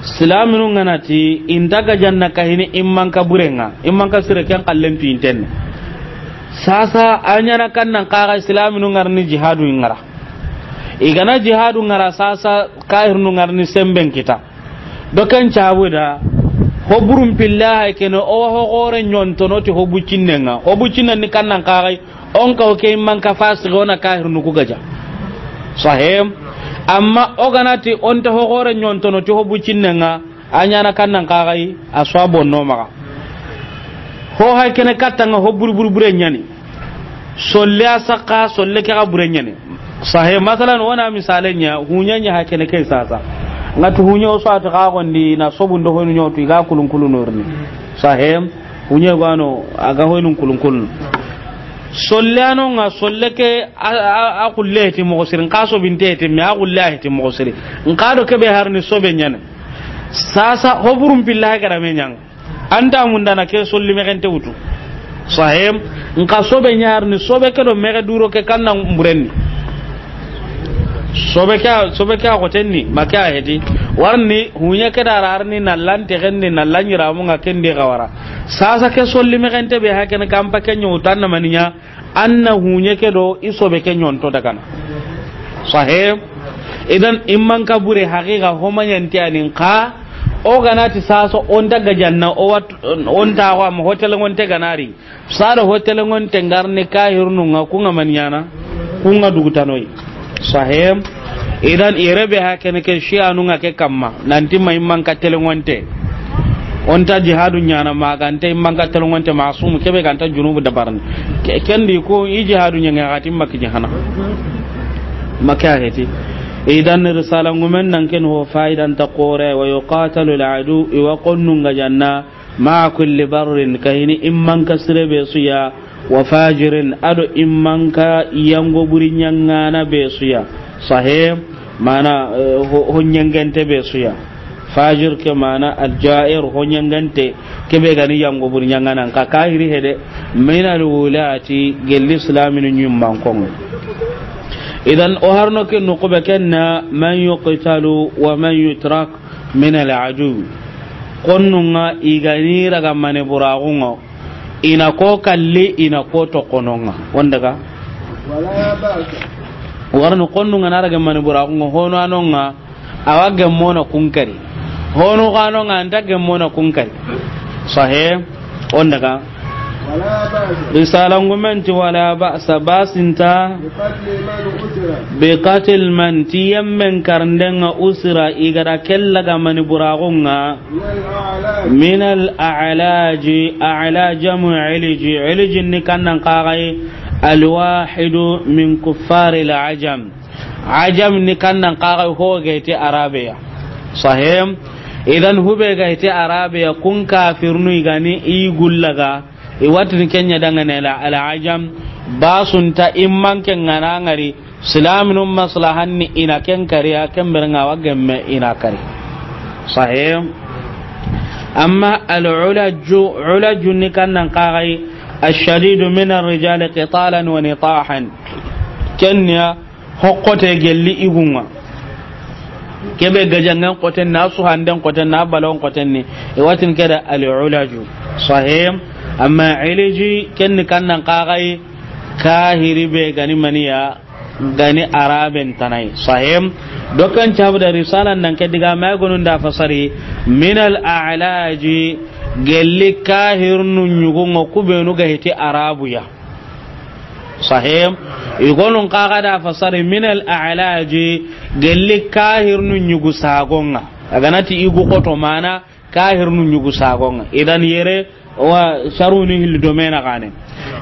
Silaminun ga na ti, i nta ga janna kahini imman ka bure ŋa, imman ka sire ken xallen pintenne. Sasa, a ɲana kannan xa ga silaminun ŋa ri ni jihadu ŋa ra. I ga na jihadu ŋa ra sasa, kahirnun ŋa ri ni semben kita. Do ken cabu da, ho burun pilla hay kene, o wa ho xore ɲontono ti ho bucinnen ŋa. Ho bucinnen ni kannan xa ga, on ka o ke imman ka fasiqi, o na kahirnu ku ga ja. Sahih. Amma o ga na ti, o nta ho xore ɲontono ti ho bucinnen ŋa, a ɲana kannan xa ga, a su wa bonno maxa. Ho hay kene katta ŋa, ho buru buru bure ɲa ni. Solle a saxa, solle ke ga bure ɲa ni. Sahih, masalan, o na misale ɲa, huɲa ɲa ha kene ke sasa. Ŋa tu huɲa o sati xa gondi na sobu ndo hoynu ɲotu, i ga kulun kulun norni. Sahih, huɲa gano, a ga hoynu kulun kulun. Solle ano ŋa, solle ke a, a, a kulle ti moxo siri, nxa sobinte ti me, a kulle a ti moxo siri. Nxa do ke be harni sobe ɲa ni. Sasa, ho burun pilla ha gara me ɲa ŋa. An ta mundana ke solli mexente wutu. Sahem. Nka sobe ɲarini, sobe ke do mexe duro ke kanna mburenni. Sobe ke, sobe ke a xotenni, ma ke a heti. Warni, huɲe ke da rarni, na lan texenni, na lan ɲiramu nga kendi xawara. Sasa ke solli mexente be hakene kampa ke ɲo tanna maniɲa, anna huɲe ke do i sobe ke ɲonto dagana. Sahem. Idan imman ka bure haqiqa ho maɲanti anin ka, o ganati sasa onta gajanna, o wat, onta wa mo hotel ngonte ganari. Sado ho telengonte ngarni kahirnu nga, ku nga maniɲana, ku nga dugutanoyi. Sahem. Idan yere be hakene ke shi'anu nga ke kamma, nanti ma imman ka telengonte. Onta jihadu ɲana magante imman ka telengonte masumu kebe ganta junubu dabarni. Ke, kendi ko i jihadu ɲanga gati makki jahana. Makka heti. Idan risala ngumen nan ken ho faidan ta qore, wa yuqatalu al-adu, iwa qonnu nga janna, ma kulli barrin, kahini imman ka sire be suya, wa fajirin, ado imman ka yango buri ɲangana be suya. Sahem. Mana, eh, ho, ho ɲangante be suya. Fajir ke mana al-jair, ho ɲangante, kebe gani yango buri ɲangana, ka kahiri hede, min al-wulati, gelli islaminu ɲimman kongo. Idan o harno ke no ko be kenna, man yuqtalu wa man yutrak min al-adu. Qonnunga igani raga mane buragunga, ina ko kalli, ina ko tokononga. Wondaga? Wala ba'sa. Warno qonnunga na raga mane buragunga, hono anonga, awa gemmona kunkari. Hono kanonga anta gemmona kunkari. Sahe? Wondaga? Risala ngumenti wala ba'sa, basinta. Bi qatl man, ti yemmen karndenga usira, igara kella ga mani buragunga. Min al a'laji, a'lajamu iliji, iliji ni kannan kagai, al wahidu min kuffari al ajam. Ajam ni kannan kagai ho gaiti arabeya. Sahem. Idan hube gaiti arabeya kun kafirnu igani i gullaga. I watini kenya dangane la, al ajam, basunta imman ke ngana ngari, silaminun maslahanni ina ken kariya, ken bere nga wa gemme ina kari. Sahem. Amma al ulaju, ulaju ni kannan kagai, ashadidu min ar-rijali qitalan wa nitahan. Kenya hokkote gelli igunga. Kebe gajangan koten na, suhanden koten na, balon koten ni. E watin keda al ulaju. Sahem. Amma iliji kenni kannan kagai kahiri be gani maniya, gani araben tanai. Sahem. Dokan cabu da risalan nan ke diga mai gonun da fasari, min al a'laji, gelli kahirnu nyugunga kubenu ga hiti arabuya. Sahem. Igonun kaga da fasari min al a'laji, gelli kahirnu nyugu sagonga. Aganati igu koto mana kahirnu nyugu sagonga. Idan yere wa sharuni hil domena gane.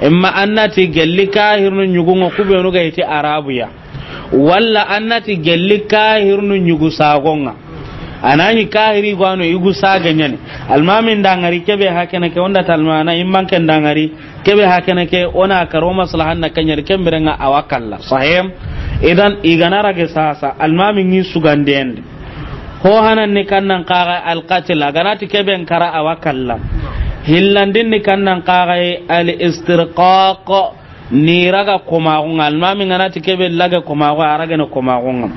Imma annati gelli kahirnu nyugunga kubenu ga iti arabuya. Walla annati gelli kahirnu nyugu sagonga. Anani kahiri gwano igu saga nyani. Almamin dangari kebe hakene ke onda talmana imman ken dangari. Kebe hakene ke ona karo maslahan na kanyar kembirenga awakalla. Sahem. Idan igana rage sasa almami ngi sugandende. Ho hanan ni kannan kaga al qatl, aganati keben kara awakalla. Hillandin ni kannan kaga al istirqaq, ni raga komagunga, almami nganati kebe laga komagu, araga ne komagunga.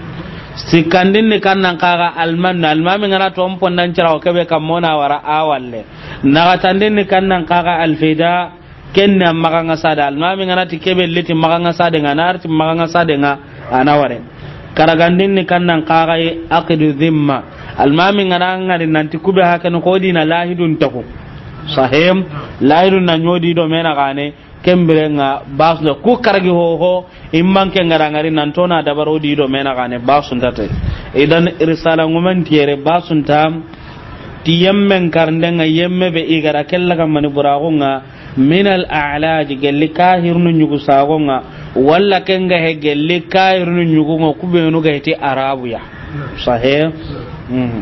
Sikandin ni kannan kaga al man, almami nganati on pondan cirawo kebe kamona wara awalle. Nagatandin ni kannan kaga al fida, Ken ni a maxa nga sade, almami ngana ti kebe liti maxa nga sade nga, na arti maxa nga sade nga, a na ware. Karagandin ni kannan kaxay aqidu zimma. Almami ngana ngari nanti kube hakene ko dina lahidun taku. Sahem, lahidun na nyodi do mena gane, kembire nga basle ku karagi ho ho, imman ke ngara ngari nan tona dabaro di do mena gane, basun tate. Idan risala ngumen tiyere basun tam, ti yemmen karnde nga yemme be igara kella ga mani buraxu nga, min al a'laj, gelli kahirnu nyugu sago nga, walla ken ga he gelli kahirnu nyugu nga kubenu ga heti arabu ya. Sahe. Mhm.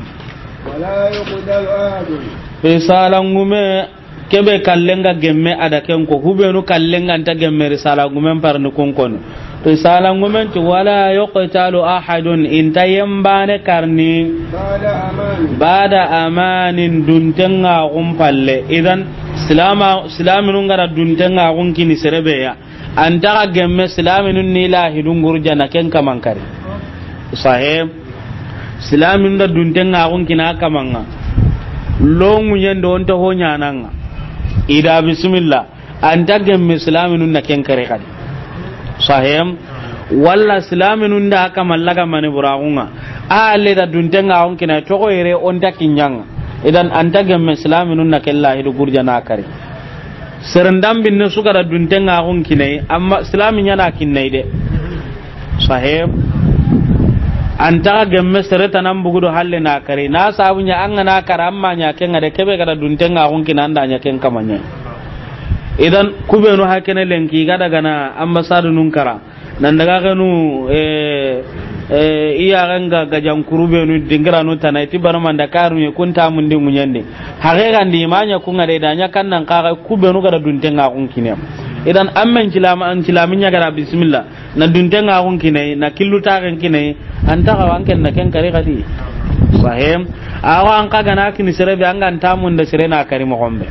Wala yuqdalu ahadun. Risala ngume kebe kallenga gemme ada ken ko, hubenu kallenga nta gemme risala ngumen parni kun kono. Risalan gumen ti, "Wala yuqtalu ahadun", i nta yembane karni, بعد أمان. "Bada amanin", duntenga xun palle. Idan, silama, silaminun ga da duntenga xun kini sere be ya, a nta xa gemme silaminun ni lahidun gurjana ken kaman kari. Sahe. Silaminun da duntenga xun kina kamanga. Longu nyendo onta ho nyananga. I da bismillah. A nta gemme silaminun na ken kari xadi. Sahem. Walla silaminun da kama laga mani buraxunga. A le da duntenga xun kina toxo yere onta kinyanga. Idan a nta gemme silaminun na ken lahidu gurjana kari. Serendam binne su ga da duntenga xun kinai, amma silami nyana kinai de. Sahem. A nta gemme sere tanan bugudo halle na kari. Na sabu nya an ga na kara amma nya ken ga de kebe ga da duntenga xun kina an da nya ken kamanya. Idan kubenu hakene lenki ga daga na ambassade nun kara. Nan daga kenu, eh, eh, iya ganga gajan kurubenu dingiranu tana iti bana manda karu ye kunta mundi munyande. Hage gandi manya kunga de da nya kannan kaga kubenu ga da duntenga xun kine. Idan ammen cilama an cilaminya ga da bismillah. Na duntenga xun kinai, na killu taxen kinai, a nta xawa an ken na ken kari xadi. Sahem. Awa an xa ga na kini sere be an ga nta munda sere na kari moxon be.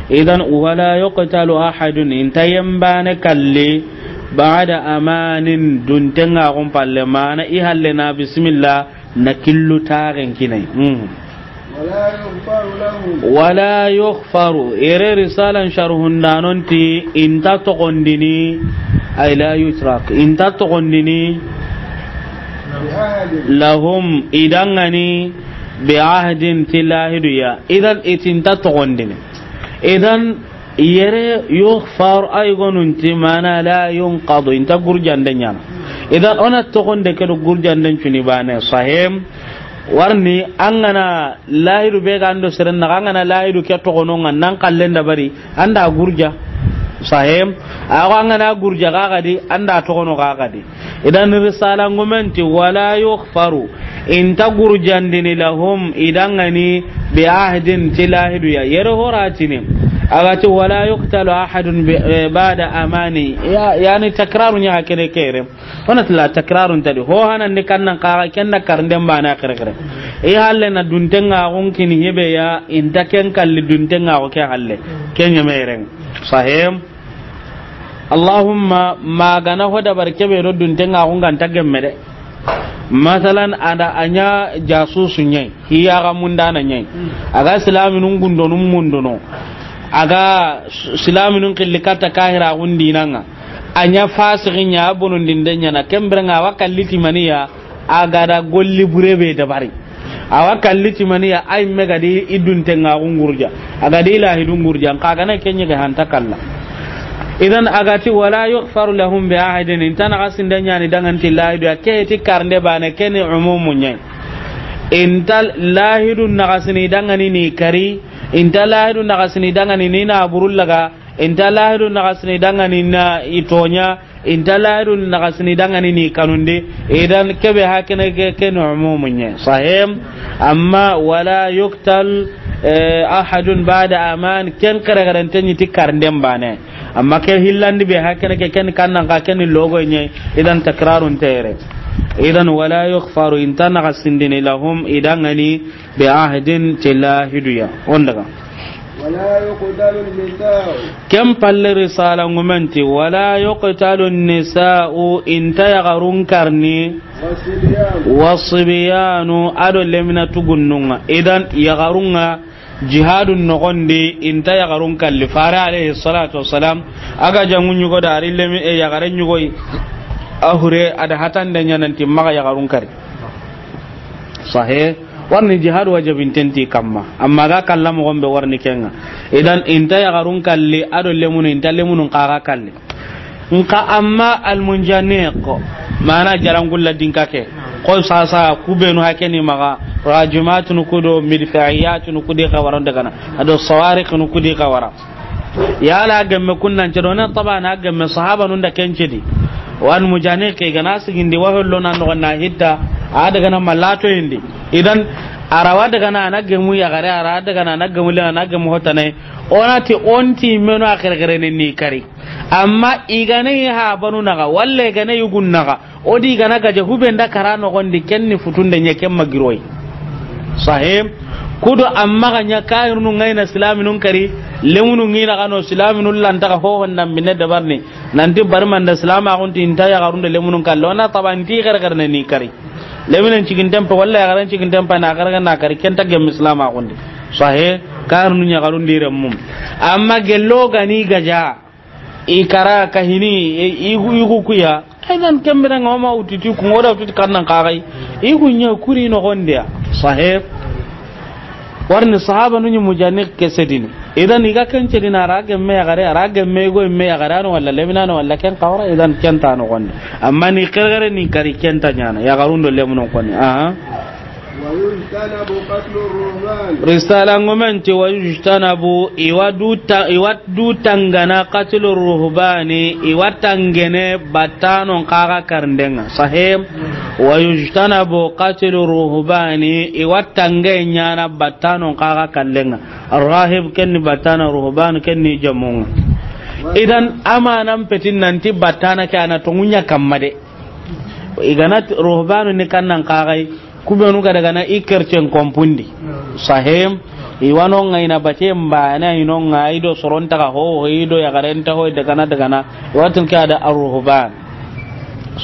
Idan, "Wala yuqtalu ahadun", i nta yembane kalli, "bada amanin", duntenga xun palle, mana i halle na bismillah, na killu taxen kinai. Hmm. ولا يغفر لهم. "Wala yughfaru", ere risalan sharhundanon ti, i nta toxondini, ay la yutrak, i nta toxondini, بعهد. "Lahum", i dangani, "bi ahdin", ti lahidu ya. Idan i ti nta toxondini. Idan yere yughfar ay gonun ti mana la yunqadu, i nta gurjande nyana. Idan ona toxonde ke do gurjanden cuni bane. Sahem. Warni an ga na lahidu be ga ndo seren na, an ga na lahidu ke toxono nga nan kallen da bari, an da gurja. Sahem. Awa an ga na gurja ga gadi, an da toxono ga gadi. Idan risala ngumen ti, "Wala yughfaru", i nta gurjandini, "lahum", i dangani, "bi ahdin", ti lahidu ya. Yere horatini. A ga ti, "Wala yuqtalu ahadun bi-, eh, bada amani". Ya, yani takraru nya hakene kere. Ona tila takrarun tadi. Ho hanan ni kannan kaga kenda karnden bana kere kere. I halle na duntenga xun kini hebe ya, i nta ken kalli duntenga xo ke halle. Ken yemeren. Sahem. Allahumma, magana ho dabar kebe do duntenga xun ga nta gemme de. Masalan, ada anya jasusu nyai, hiya ga mundana nyai. Aga silaminun gundonun mundono. Aga s-, silaminun killi katta kahira gundinanga. Anya fasiqin nya, bonondinde nyana, kemberenga wa kalli timaniya, a ga da golli bure be dabari. Awa kalli timaniya, ay me ga di i duntenga xun gurja. A ga di lahidun gurja, nka gana kenye ga hanta kalla. Idan a ga ti, "Wala yughfaru lahum bi ahadin", i nta naxasinde nyani danganti lahidu ya, ke ti karnde bane, ke ni umumu nyai. I nta lahidu naxasini dangani ni kari, i nta lahidu naxasini dangani ni na burullaga, i nta lahidu naxasini dangani na i tonya, i nta lahidu naxasini dangani ni kanundi, idan kebe hakene ke, ke ni umumu nye. Sahem, amma wala yuqtal, eh, ahadun ba'da aman, ken kare garante ni ti karnden bane. Amma ke hillandi be hakene ke, ken kannan ka, ken logo nye, idan takrarun tere. Idan wala yughfaru, i nta naxasindini lahum, i dangani, bi ahdin, ti lahidu ya. On daga. ولا يقتل النساء. Ken palle risala ngumen ti, "Wala yuqtalu nisa'u", i nta yaxarun karni, والصبيان. "Wasibiyanu", ado lemina tugunnunga. Idan yaxarunga jihadun noxondi, i nta yaxarun kalli. Fare alayhi salatu wassalam, a ga jangu nyugo da ari lemi, e, yaxare nyugoyi. A hure, ada hatande nyananti maxa yaxarun kari. Sahe, warni jihad wajabinten ti kamma. Amma ga kalla moxon be warni kenga. Idan, i nta yaxarun kalli, ado lemunu, i nta lemunun kaga kalli. Nka amma almunjaniq, mana jarangulla dinka ke. Ko sasa, kubenu hakeni maxa, rajimatunu kudo, midfa'iyatunu kudi xawaron dagana. Ado sawariqunu kudi xawara. Yala gemme kunnan cedo na tabana gemme sahaba nun da kencedi. Wan mujane ke gana sigindi wa hollo nan no na hitta a daga na malato indi. Idan A ra wa daga na a na gemu yaxare, a ra daga na a na gemu le, a na gemu hotane. O na ti o nti menu a xerexerene ni kari. Amma i ga na yi habanu naxa, walla i ga na yi yugun naxa, o di i ga na gaja hube nda kara noxon di, ken ni futunde ɲa, ken ma giri o yi. Sahe. Kudo amma ga ɲa kahirunu ŋa yi na silaminun kari, lemunu ŋi naxa no silaminun lanta ga hoho nda minne dabarni. Nanti bari manda silamaxun ti i nta yaxarun do lemunun kalle, o na tabanti xerexerene ni kari. Leminen ciginten pa, walla yaxaren ciginten pa, na xerexerene na kari, ken nta gemu silamaxun di. Sahe, kahirunu ɲaxarun di renmu. Amma gello ga ni gaja, i kara kahini, i, i, i ku ya. Idan ken bire ŋa o ma wutu ti ku ŋa, o da wutu ti kannan kaxay. I ku ɲa kuri noxon di ya. Sahe. Warni sahabanu ɲi mujani ke sedini. Idan i ga ken cedini, a ra gemme yaxare, a ra gemme go me yaxare, a no walla lemina no walla ken kawra, idan ken nta noxon di. Amma ni xerexere ni kari, ken nta ɲaana yaxarun do lemunun koni. Aha. ويجتنب قتل الرهبان. Risala ŋumen ti, ويجتنب, i wa du ta-, i wa du tangana, قتل الرهبان, i wa tangene battanon kaxa karndenga. Sahe. ويجتنب قتل الرهبان, i wa tange ɲaana battanon kaxa kallenga. Rahib ken ni battana, ruhban ken ni jamunga. Idan amanan petin nanti battana ke a na tonŋu ɲa kamma de. I ga na ti ruhbanu ni kannan kaxay, ku benu ga daga na i kercen kompundi. Sahe. I wa no ŋa i na bate mba na i no ŋa, i do soron taga ho, i do yaxaren ta ho, daga na, daga na. I wa tun ke a da arruhban.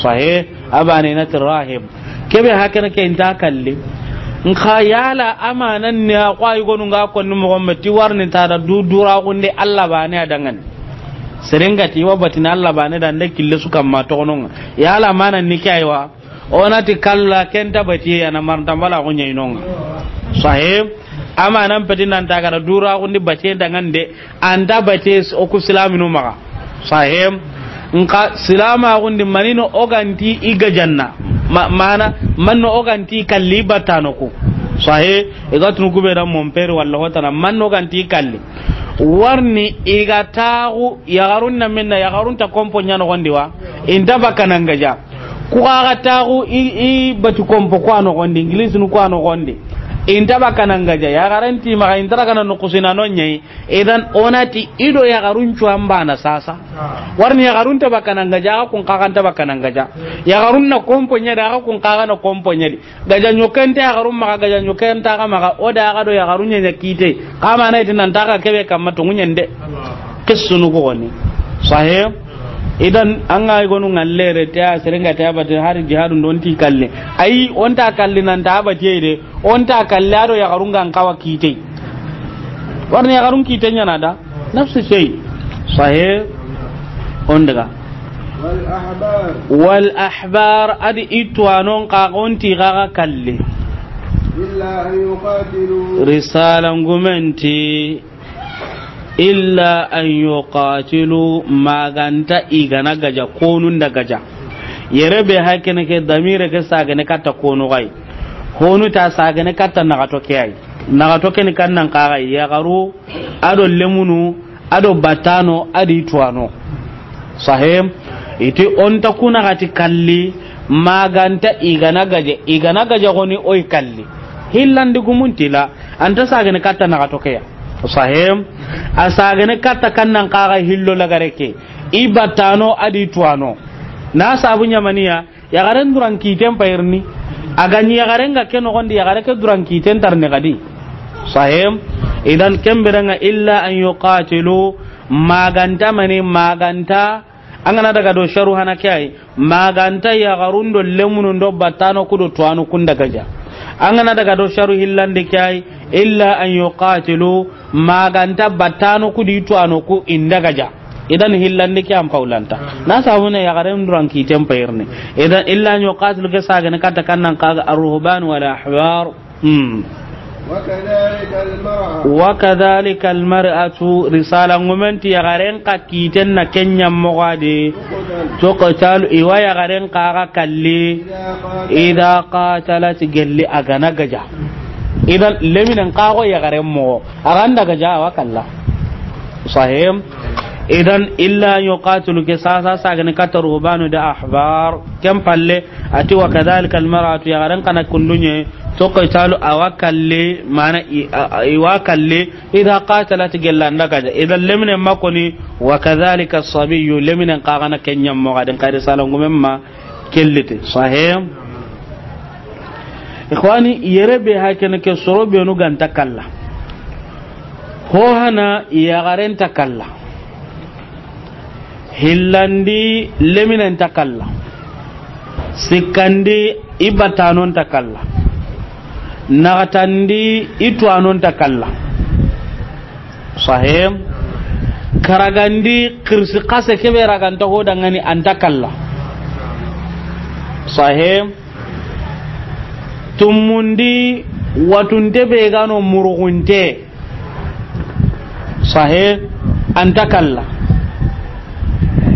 Sahe. A bane na ti rahib. Kebe hakene ke i nta kalli. Nxa yala amanan ni a xo a yugonu ŋa konni moxo me ti warni ta da du duraxunde Alla bane a dangani. Serenga ti i wa batini Alla bane da nde kille su kamma toxononga. Yala amanan ni ke aywa. O na ti kalla, ken nta batiye ya na maranta mbala xo ɲa i no ŋa. Sahe. Amanan peti nan ta ga da duraxundi batiye dangande, a nta batiye o ku silaminu maxa. Sahe. Nxa silamaxundi manino o ga nti i gajanna. Ma-, mana, manno o ga nti i kalli battano ku. Sahe. I ga tunu ku be da mon père walla hotana, manno o ga nti i kalli. Warni i ga taxu yaxarun na minna, yaxarun nta kompo ɲa noxon di wa. I nta bakka nan gaja. Ku xa ga taxu i, i bati kompo ku a noxon di, English nu ku a noxon di. I nta bakka nan gaja, yaxaren ti maxa, i nta daga na noxusina no ɲa yi. Idan o na ti i do yaxarun cuwan bana sasa. Warni yaxarun nta bakka nan gaja, a xa kun kaxa nta bakka nan gaja. Yaxarun na kompo ɲa di, a xa kun kaxa na kompo ɲa di. Gaja ɲoken nta yaxarun maxa, gaja ɲoken nta xa maxa, o da xa do yaxarun ɲa ɲa kite. Xa mana i ti nan ta xa kebe kamma tonŋu ɲa nde. Qissunu ko goni. Sahe. Idan an ga i gonu ŋallere te a serenga te a bate hari jihadu ndo nti kalle. Ayi, o nta kalli nan ta bate de. O nta kalli a do yaxarun ga n kawa kite. Warni yaxarun kite ɲa na da. Nafsi shay. Sahe. O n daga. والأحبار. Wal ahbar, a di i tuwanon xa o nti xa ga kalli. إلا أن يقاتلوا. Risala ŋumen ti, إلا أن يقاتلوا, ma ga nta i ga na gaja, konun da gaja. Yere be hakene ke damire ke sagene katta konu xay. Honu ta sagene katta naxato ke ay. Naxato ke ni kannan kaxay, yaxaru, a do lemunu, a do battano, a di tuwano. Sahe. I ti o nta ku naxati kalli, ma ga nta i ga na gaja, i ga na gaja xoni o yi kalli. Hillandi gumun ti la, a nta sagene katta naxato ke ya. Sahe. A sagene katta kannan kaxa hillo lagare ke. I battano, a di tuwano. Na sabu ɲa mani ya, yaxaren duran kiten payirni. A ga ɲi yaxaren ga ke noxon di, yaxare ke duran kiten tarni xadi. Sahe. Idan ken bire ŋa إلا أن يقاتلوا, ma ga nta mani, ma ga nta, an ga na daga do sharu hana ke ay, ma ga nta yaxarun do lemunun do battano ku do tuwano kun da gaja. An ga na daga do sharu hillandi ke ay, إلا أن يقاتلوا, ma ga nta battano ku di tuwano ku i nda gaja. Idan hillandi ke an pawlanta. Na sabu ne yaxaren duran kiten payirni. Idan إلا أن يقاتلوا ke sagene katta kannan kaxa الرهبان والأحبار. Hmm. وكذلك المرأة. وكذلك المرأة, risala ŋumen ti yaxaren xa kiten na ken ɲa moxo a di. تقتل. تقتل, i wa yaxaren xa ga kalli. إذا قاتلت. إذا قاتلت, gelli a ga na gaja. Idan leminen xa xo yaxaren moxo. A ga nda gaja, a wa kalla. Sahe. Idan إلا أن يقاتلوا ke sasa sagene katta ruhbanu da ahbar. Ken palle, a ti وكذلك المرأة, yaxaren xa na kundu ɲa, Toqitalu a wa kalle, mana i, a, a, i wa kalle, idha qatalat, gella nda gaja. Idha lemine ma koni, wa kadhalika sabiyu, leminen xa ga na ken ɲa moxo di, n xa ri salangumen ma kelliti. Sahih. Ikhwani, yere be ha kene ke soro benu ga nta kalla. Ho hana yaxaren nta kalla. Hillandi leminen nta kalla. Sikkandi i battanon nta kalla. Naxatandi i tuwanon nta kalla. Sahih. Karagandi xirsi xase kebe ra ga nta ho dangani a nta kalla. Sahih. Tumundi watunte be ga no murugunte. Sahih. A nta kalla.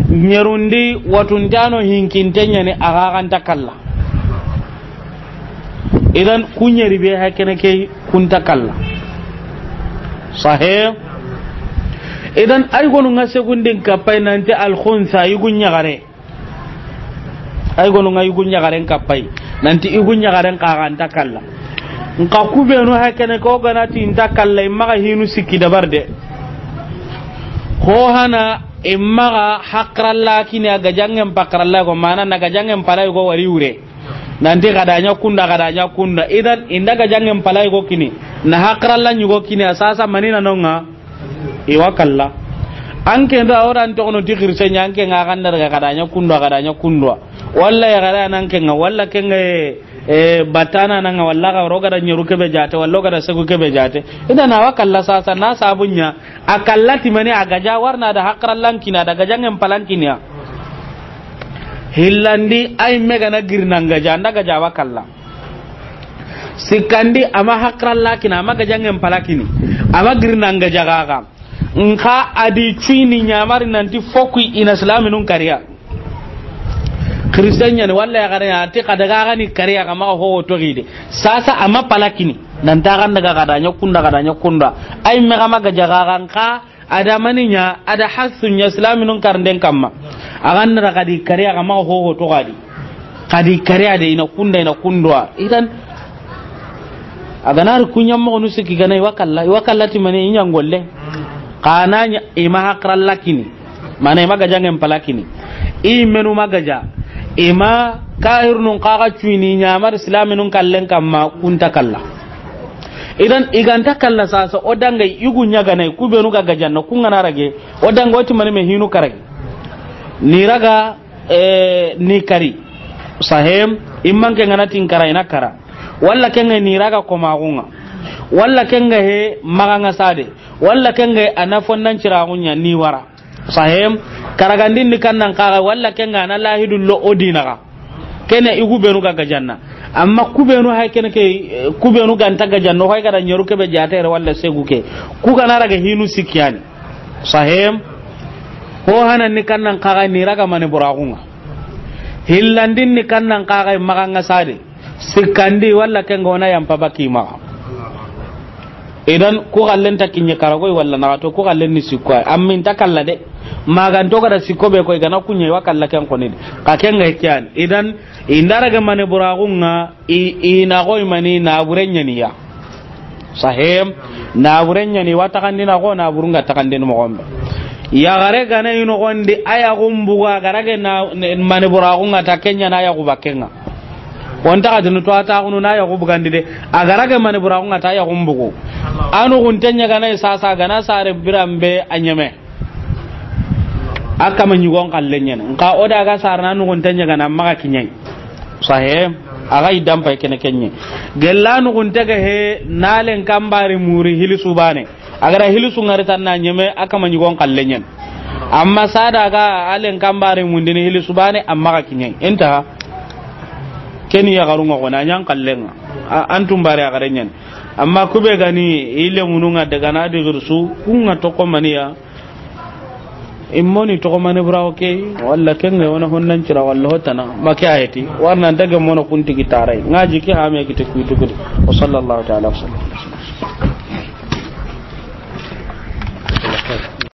Ɲerundi watunte a no hinkinte ɲani a ga ga nta kalla. Idan ku ɲeri be ha kene ke ku nta kalla. Sahih. Idan ay gonu nga segundin kapay nanti al khunsa yugu ɲagare. Ay gonu nga yugu ɲagaren kapay. Nanti yugu ɲagaren xa ga nta kalla. Nka ku benu ha kene ko ga na ti nta kalla, i maxa hinu sikki dabar de. Ho hana i maxa hakralla kini a gajangen pakralla go, mana na gajangen palay go wari wure. Nanti ga da ɲa kunda, ga da ɲa kunda. Idan i nda gajangen palay go kini. Na hakralla ɲugo kini a sasa manina nonga. I wa kalla. An ke nda o dan toxono ti xirse ɲa, an ke nga ga nda daga ga da ɲa kundwa, ga da ɲa kundwa. Walla ya ga da nan ke nga, walla ke nga, e, batana na nga, walla ga ro ga da ɲeru kebe jate, walla ga da segu kebe jate. Idan a wa kalla sasa na sabunya. A kalla ti mani a gaja warna da hakrallan kina da gajangen palan kiniya. Hillandi ay mega na girnan gaja, nda gaja wa kalla. Sikkandi a ma hakralla kina, a ma gajangen palakini, a ma girnanga jagaga. Nka a di cuini ɲamari nanti fokui i na silaminun kariya. Christian ɲani walla yaxare ɲa ti xa daga ga ni kariya ga maxa ho toxi de. Sasa a ma palakini. Nanta xa daga ga da ɲa kunda, ga da ɲa kunda. Ay me ga ma gajagaga nka. A da mani ɲa, a da hasu ɲa silaminun karnden kamma. A ga nda ra xa di kariya ga maxa ho ho toxo a di. Xa di kariya de i na kunda, i na kundwa. Idan a ga na ri ku ɲa moxonu sikki ga na i wa kalla, i wa kalla ti mani i ɲa ngolle. Xa na ɲa i ma hakralla kini. Mana i ma gajangen palakini. I menu ma gaja. I ma kahirnun xa ga cuini ɲamari silaminun kallen kamma ku nta kalla. Idan i ga nta kalla sasa o danga yugu ɲaganai ku benu ga gajanna ku nga na rage o danga o ti mani me hinu karagi. Ni raga, e, ni kari. Sahem, imman ke nga na tin kara i na kara. Walla ke nga ni raga komaxunga. Walla ke nga he maxa nga sade. Walla ke nga a na fonnan ciraxunya ni wara. Sahem, karagandin ni kannan kaga, walla ke nga na lahidu lo o dinaga. Kene i ku benu ga gajanna. Amma ku benu hay kene ke, ku benu ga nta gajanna, hay ga da ɲeru kebe jatere walla segu ke. Ku ga na raga hinu sikkiyani. Sahem, ho hanan ni kannan kaga ni raga mani buraxunga. Hillandin ni kannan kaga maxa nga sade. Sikkandi walla ke nga o na yampa baki maxa. Idan ku xallen ta kiɲe karagoy walla naxato ku xallen ni sikko ay. Ammin ta kalla de. Maganto ga da sikko be koy ga na kuɲe wa kalla ken koni de. Ka ken ga kiyan. Idan i nda raga mani buraxunga i, i na goy mani na buren ɲaniya. Sahem, na buren ɲani wa taxandina go na burunga taxandin moxombe. Yaxare ga na i noxondi a yaxun buga ga rage na mani buraxunga ta ken ɲa na yaxu bakenga. Wonta ga dinu to a taxunu na yaxu bugandi de. A ga rage mani buraxunga ta yaxun bugu. Anu gunte ɲa ga na i sasa ga na sare biranbe a ɲeme. A kama ɲigon xalle ɲene. Nka o da ga sarana nugunte ɲegana maxa kiɲai. Sahe, a ga i dampa kene kenɲe. Gella nugunte ga he, nalen kambari muri hili subane. A ga da hili su ngari tan na ɲeme, a kama ɲigon xalle ɲene. Amma sada ga alen kambari mundini hili subane, a maxa kiɲai. Inta, keni yaxarunga xona, a ɲan xallenga. A, an tumbare a gare ɲene. Amma kube gani, ile mununga daga na di girsu, kunga toko maniya. Immoni toxo mani buraxo ke, walla kenga wona honnan cira, walla hotana, ma ke ayeti, warna nta gem mono kuntigi taray, ngaji ke hame kite kuitukudi. Wa sallallahu ta'ala wa sallam.